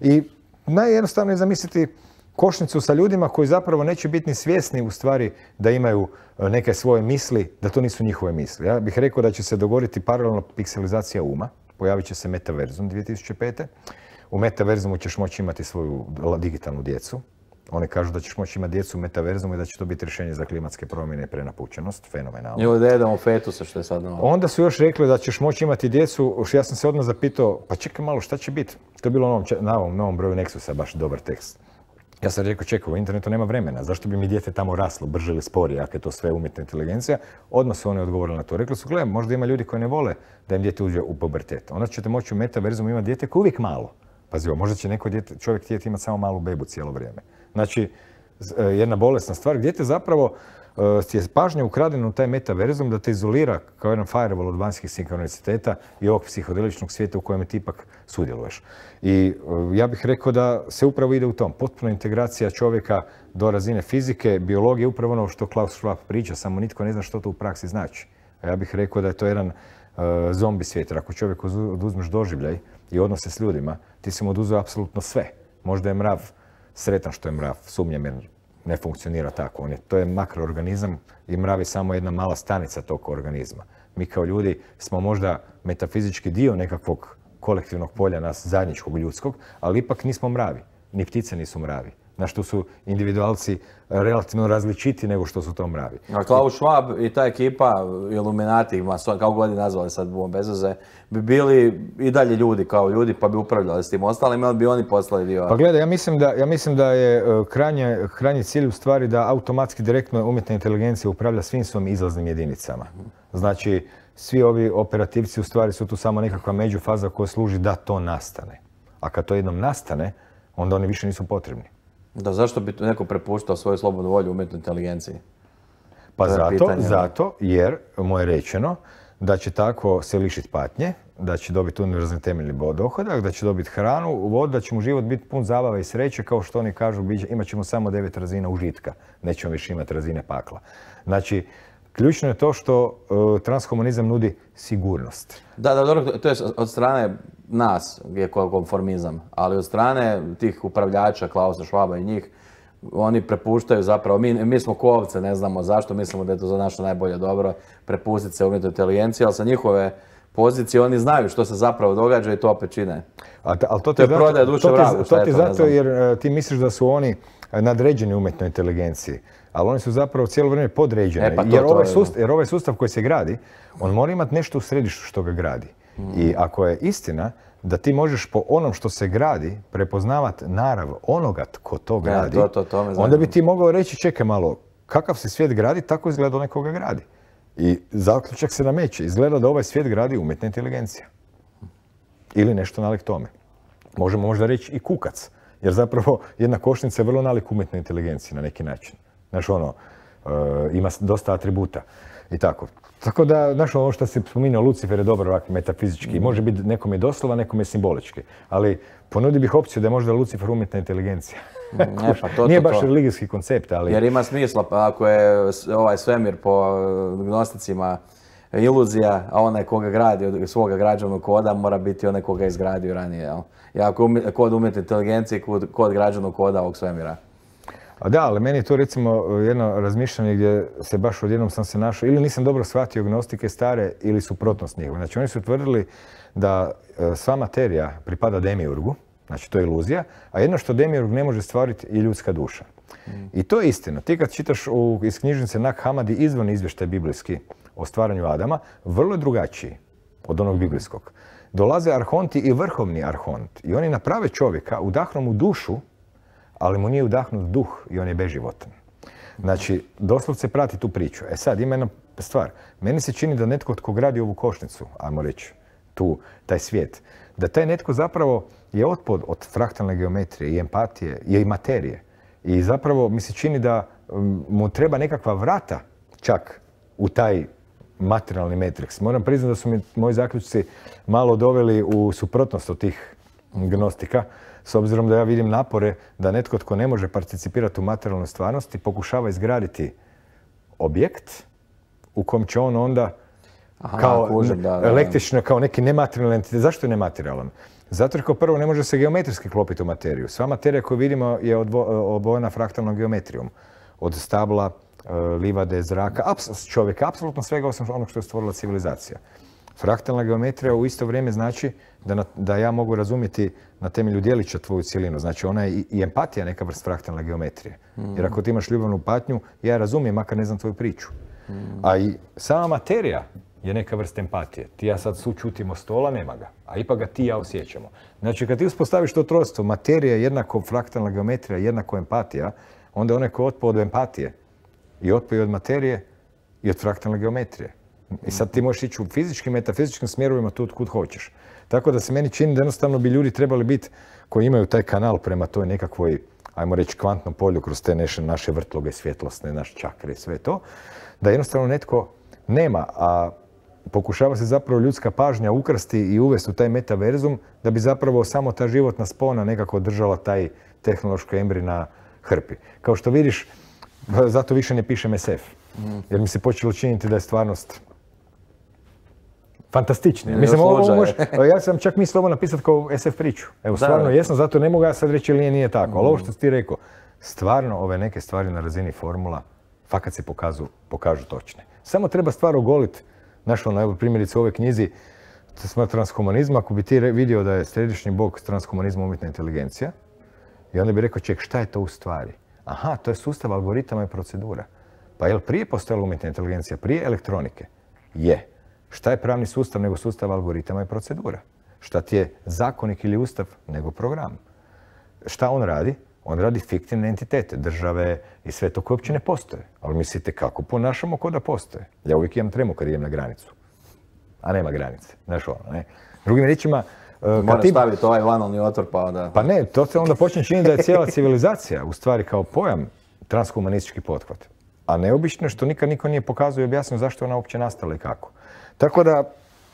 I najjednostavno je zamisliti košnicu sa ljudima koji zapravo neće biti ni svjesni u stvari da imaju neke svoje misli, da to nisu njihove misli. Ja bih rekao da će se dogoditi paralelno pikselizacija uma, pojavit će se metaverzum 2005. U metaverzumu ćeš moći imati svoju digitalnu djecu. Oni kažu da ćeš moći imati djecu u metaverzumu i da će to biti rješenje za klimatske promjene i prenapučenost. Fenomenalno. Ili da jedemo fetuse, što je sad novo. Onda su još rekli da ćeš moći imati djecu. Ja sam se odmah zapitao, pa čekaj malo, šta će biti? To je bilo na ovom novom broju Nexusa, baš dobar tekst. Ja sam rekao, čekaj, u internetu nema vremena. Zašto bi mi dijete tamo raslo, brže ili sporije, ako je to sve umjetna inteligencija? Odmah su oni odgovorili na to. Rekli su, gledaj, možda ima ljudi koji ne vole da im dijete uđe u pubertet. Onda ćete moći u metaverzumu imati dijete koje uvijek malo. Pazi, možda će neko čovjek htjeti imati samo malu bebu cijelo vrijeme. Znači, jedna bolesna stvar gdje te zapravo je pažnja ukradena u taj metaverzum da te izolira kao jedan firewall od vanjskih sinkroniciteta i ovog psihodeličnog svijeta u kojem ti ipak sudjeluješ. I ja bih rekao da se upravo ide u tom. Potpuna integracija čovjeka do razine fizike, biologije, upravo ono što Klaus Schwab priča, samo nitko ne zna što to u praksi znači. A ja bih rekao da je to jedan zombi svijet. Ako čovjek oduzmeš doživljaj i odnose s ljudima, ti si mu oduzeo apsolutno sve. Možda je mrav sretan što je mrav, sumnjam jer ne funkcionira tako. To je makroorganizam i mrav je samo jedna mala stanica tog organizma. Mi kao ljudi smo možda metafizički dio nekakvog kolektivnog polja nas zajedničkog ljudskog, ali ipak nismo mravi. ni ptice nisu mravi. Znaš, tu su individualci relativno različiti nego što su to mravi. A Klaus Schwab i ta ekipa, Illuminati, kako god je nazvali sad bez veze, bi bili i dalje ljudi kao ljudi pa bi upravljali s tim ostalima, ali bi oni postali dio. Pa gledaj, ja mislim da je krajnji cilj u stvari da automatski direktno umjetna inteligencija upravlja svim svojim izlaznim jedinicama. Znači, svi ovi operativci u stvari su tu samo nekakva međufaza koja služi da to nastane. A kad to jednom nastane, onda oni više nisu potrebni. Da, zašto bi neko prepuštao svoju slobodnu volju umjetnoj inteligenciji? Pa zato jer mu je rečeno da će tako se lišiti patnje, da će dobiti univerzalni temeljni dohodak, da će dobiti hranu, vodu, da će mu život biti pun zabave i sreće, kao što oni kažu, imat ćemo samo 9 razina užitka, nećemo više imati razine pakla. Znači, ključno je to što transhumanizam nudi sigurnost. Da, dobro, to je od strane nas je konformizam, ali od strane tih upravljača, Klausa Schwaba i njih, oni prepuštaju zapravo, mi smo ko ovce, ne znamo zašto, mislimo da je to za naše najbolje dobro, prepustiti se umjetnoj inteligenciji, ali sa njihove pozicije oni znaju što se zapravo događa i to opet čine. Ali to je prodaja duše vragu, to ti zato jer ti misliš da su oni nadređeni umjetnoj inteligenciji, ali oni su zapravo cijelo vrijeme podređeni. Jer ovaj sustav koji se gradi, on mora imati nešto u središtu što ga gradi. I ako je istina da ti možeš po onom što se gradi prepoznavati narav onoga ko to gradi, onda bi ti mogao reći, čekaj malo, kakav se svijet gradi, tako izgleda onaj koga gradi. I zaključak se nameće. Izgleda da ovaj svijet gradi umjetna inteligencija. Ili nešto nalik tome. Možemo možda reći i kukac. Jer zapravo jedna košnica je vrlo nalik umjetnoj inteligenciji na neki način. Znaš, ima dosta atributa i tako. Tako da, znaš, ovo što si spominjao, Lucifer je dobro ovak metafizički. Može biti nekom je doslova, nekom je simbolički. Ali ponudi bih opciju da je možda Lucifer umjetna inteligencija. Nije baš religijski koncept, ali... Jer ima smisla, ako je ovaj svemir po gnosticima iluzija, a onaj koga gradi od svoga građevnog koda mora biti onaj koga je izgradio ranije, jel? I ako je kod umjetne inteligencije, kod građevnog koda ovog svemira. A da, ali meni je to recimo jedno razmišljanje gdje se baš odjednom sam se našao, ili nisam dobro shvatio gnostike stare ili suprotnost njihove. Znači oni su tvrdili da sva materija pripada demiurgu, znači to je iluzija, a jedno što demiurg ne može stvariti je ljudska duša. I to je istina. Ti kad čitaš iz knjižnice Nag Hammadi izvan izvještaj biblijski o stvaranju Adama, vrlo je drugačiji od onog biblijskog. Dolaze arhonti i vrhovni arhont i oni naprave čovjeka, udahnu mu dušu, ali mu nije udahnut duh i on je beživotan. Znači, doslovce prati tu priču. E sad, ima jedna stvar. Meni se čini da netko tko gradi ovu košnicu, ajmo reći, taj svijet, da taj netko zapravo je otpod od fraktalne geometrije i empatije i materije. I zapravo mi se čini da mu treba nekakva vrata čak u taj materijalni matrix. Moram priznati da su mi moji zaključci malo doveli u suprotnost od tih gnostika, s obzirom da ja vidim napore da netko tko ne može participirati u materijalnoj stvarnosti pokušava izgraditi objekt u kom će on onda električno, kao neki nematerijalan entitet. Zašto je nematerijalan? Zato jer kao prvo ne može se geometrijski klopiti u materiju. Sva materija koju vidimo je obojena fraktalnom geometrijom. Od stabla, livade, zraka, čovjeka, apsolutno svega osim onog što je stvorila civilizacija. Fraktalna geometrija u isto vrijeme znači da ja mogu razumjeti na temelju djelića tvoju cjelinu. Znači ona je i empatija neka vrst fraktalne geometrije. Jer ako ti imaš ljubavnu patnju, ja razumijem, makar ne znam tvoju priču. A i sama materija je neka vrsta empatije. Ti ja sad sućutimo stola, nema ga. A ipak ga ti i ja osjećamo. Znači kad ti uspostaviš to trojstvo, materija jednako fraktalna geometrija, jednako empatija, onda onaj ko otpao od empatije i otpao od materije i od fraktalne geometrije. I sad ti možeš ići u fizičkim, metafizičkim smjerovima tu kud hoćeš. Tako da se meni čini da jednostavno bi ljudi trebali biti koji imaju taj kanal prema toj nekakvoj, ajmo reći, kvantnom polju kroz te naše vrtloge svjetlosne, naše čakre i sve to, da jednostavno netko nema, a pokušava se zapravo ljudska pažnja ukrasti i uvesti u taj metaverzum da bi zapravo samo ta životna spona nekako držala taj tehnološki embrij na hrpi. Kao što vidiš, zato više ne pišem SF. Jer mi se počelo činiti da je stvarnost fantastična. Mislim, ja sam čak mislio ovo napisati kao SF priču. Evo, stvarno jesam, zato ne mogu ja sad reći ili nije tako. Ali ovo što si ti rekao, stvarno ove neke stvari na razini formula fakat se pokažu točne. Samo treba stvar ogoliti. Znaš, evo primjerice u ovoj knjizi transhumanizma, ako bi ti vidio da je središnji bog transhumanizma umjetna inteligencija I onda bi rekao, ček, šta je to u stvari? Aha, to je sustav algoritama i procedura. Pa je li prije postojala umjetna inteligencija, prije elektronike? Je. Šta je pravni sustav nego sustav algoritama i procedura? Šta ti je zakonik ili ustav nego program? Šta on radi? On radi fiktivne entitete, države i sve to koje uopće ne postoje. Ali mislite kako ponašamo ko da postoje. Ja uvijek imam tremu kad idem na granicu. A nema granice. Znaš ono, ne? Drugim riječima... Moraš staviti ovaj vanalni otvor pa onda... Pa ne, to se onda počne činiti da je cijela civilizacija u stvari kao pojam transhumanistički pothvat. A neobično je što nikad niko nije pokazao i objasnio zašto je ona uopće nastala i kako. Tako da,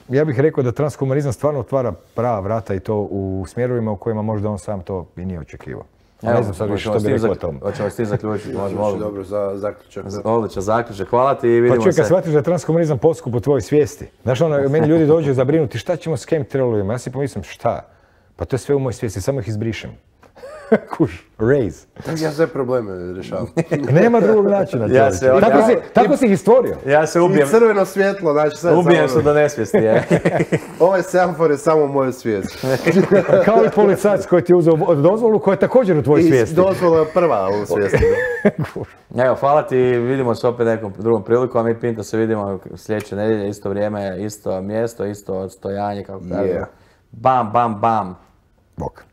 ja bih rekao da transhumanizam stvarno otvara prava vrata i to u smjerovima u kojima možda on sam to i nije očekivao. Ne znam sad više što bi rekao o tom. Hoćemo s tim zaključiti. Dobro za zaključak. Odličan zaključak. Hvala ti i vidimo se. Pa čuj, kad shvatiš da je transhumanizam poskup u tvojoj svijesti. Znaš, meni ljudi dođu zabrinuti šta ćemo s chemtrailovima. Ja si pomislim šta? Pa to je sve u mojoj svijesti, samo ih izbrišem. Kuš, raise. Ja sve probleme rješavam. Nema drugog načina. Tako si ih stvorio. Ja se ubijem. I crveno svjetlo, znači sve. Ubijem se do nesvijesti, je. Ovaj semafor je samo u mojoj svijesti. Kao i policajac koji ti je uzeo dozvolu koja je također u tvojoj svijesti. I dozvola je prva u svijesti. Evo, hvala ti, vidimo se opet nekom drugom prilikom, a mi Pinto se vidimo sljedeće nedjelje, isto vrijeme, isto mjesto, isto odstojanje, kako kažemo. Bam, bam, bam. Bok.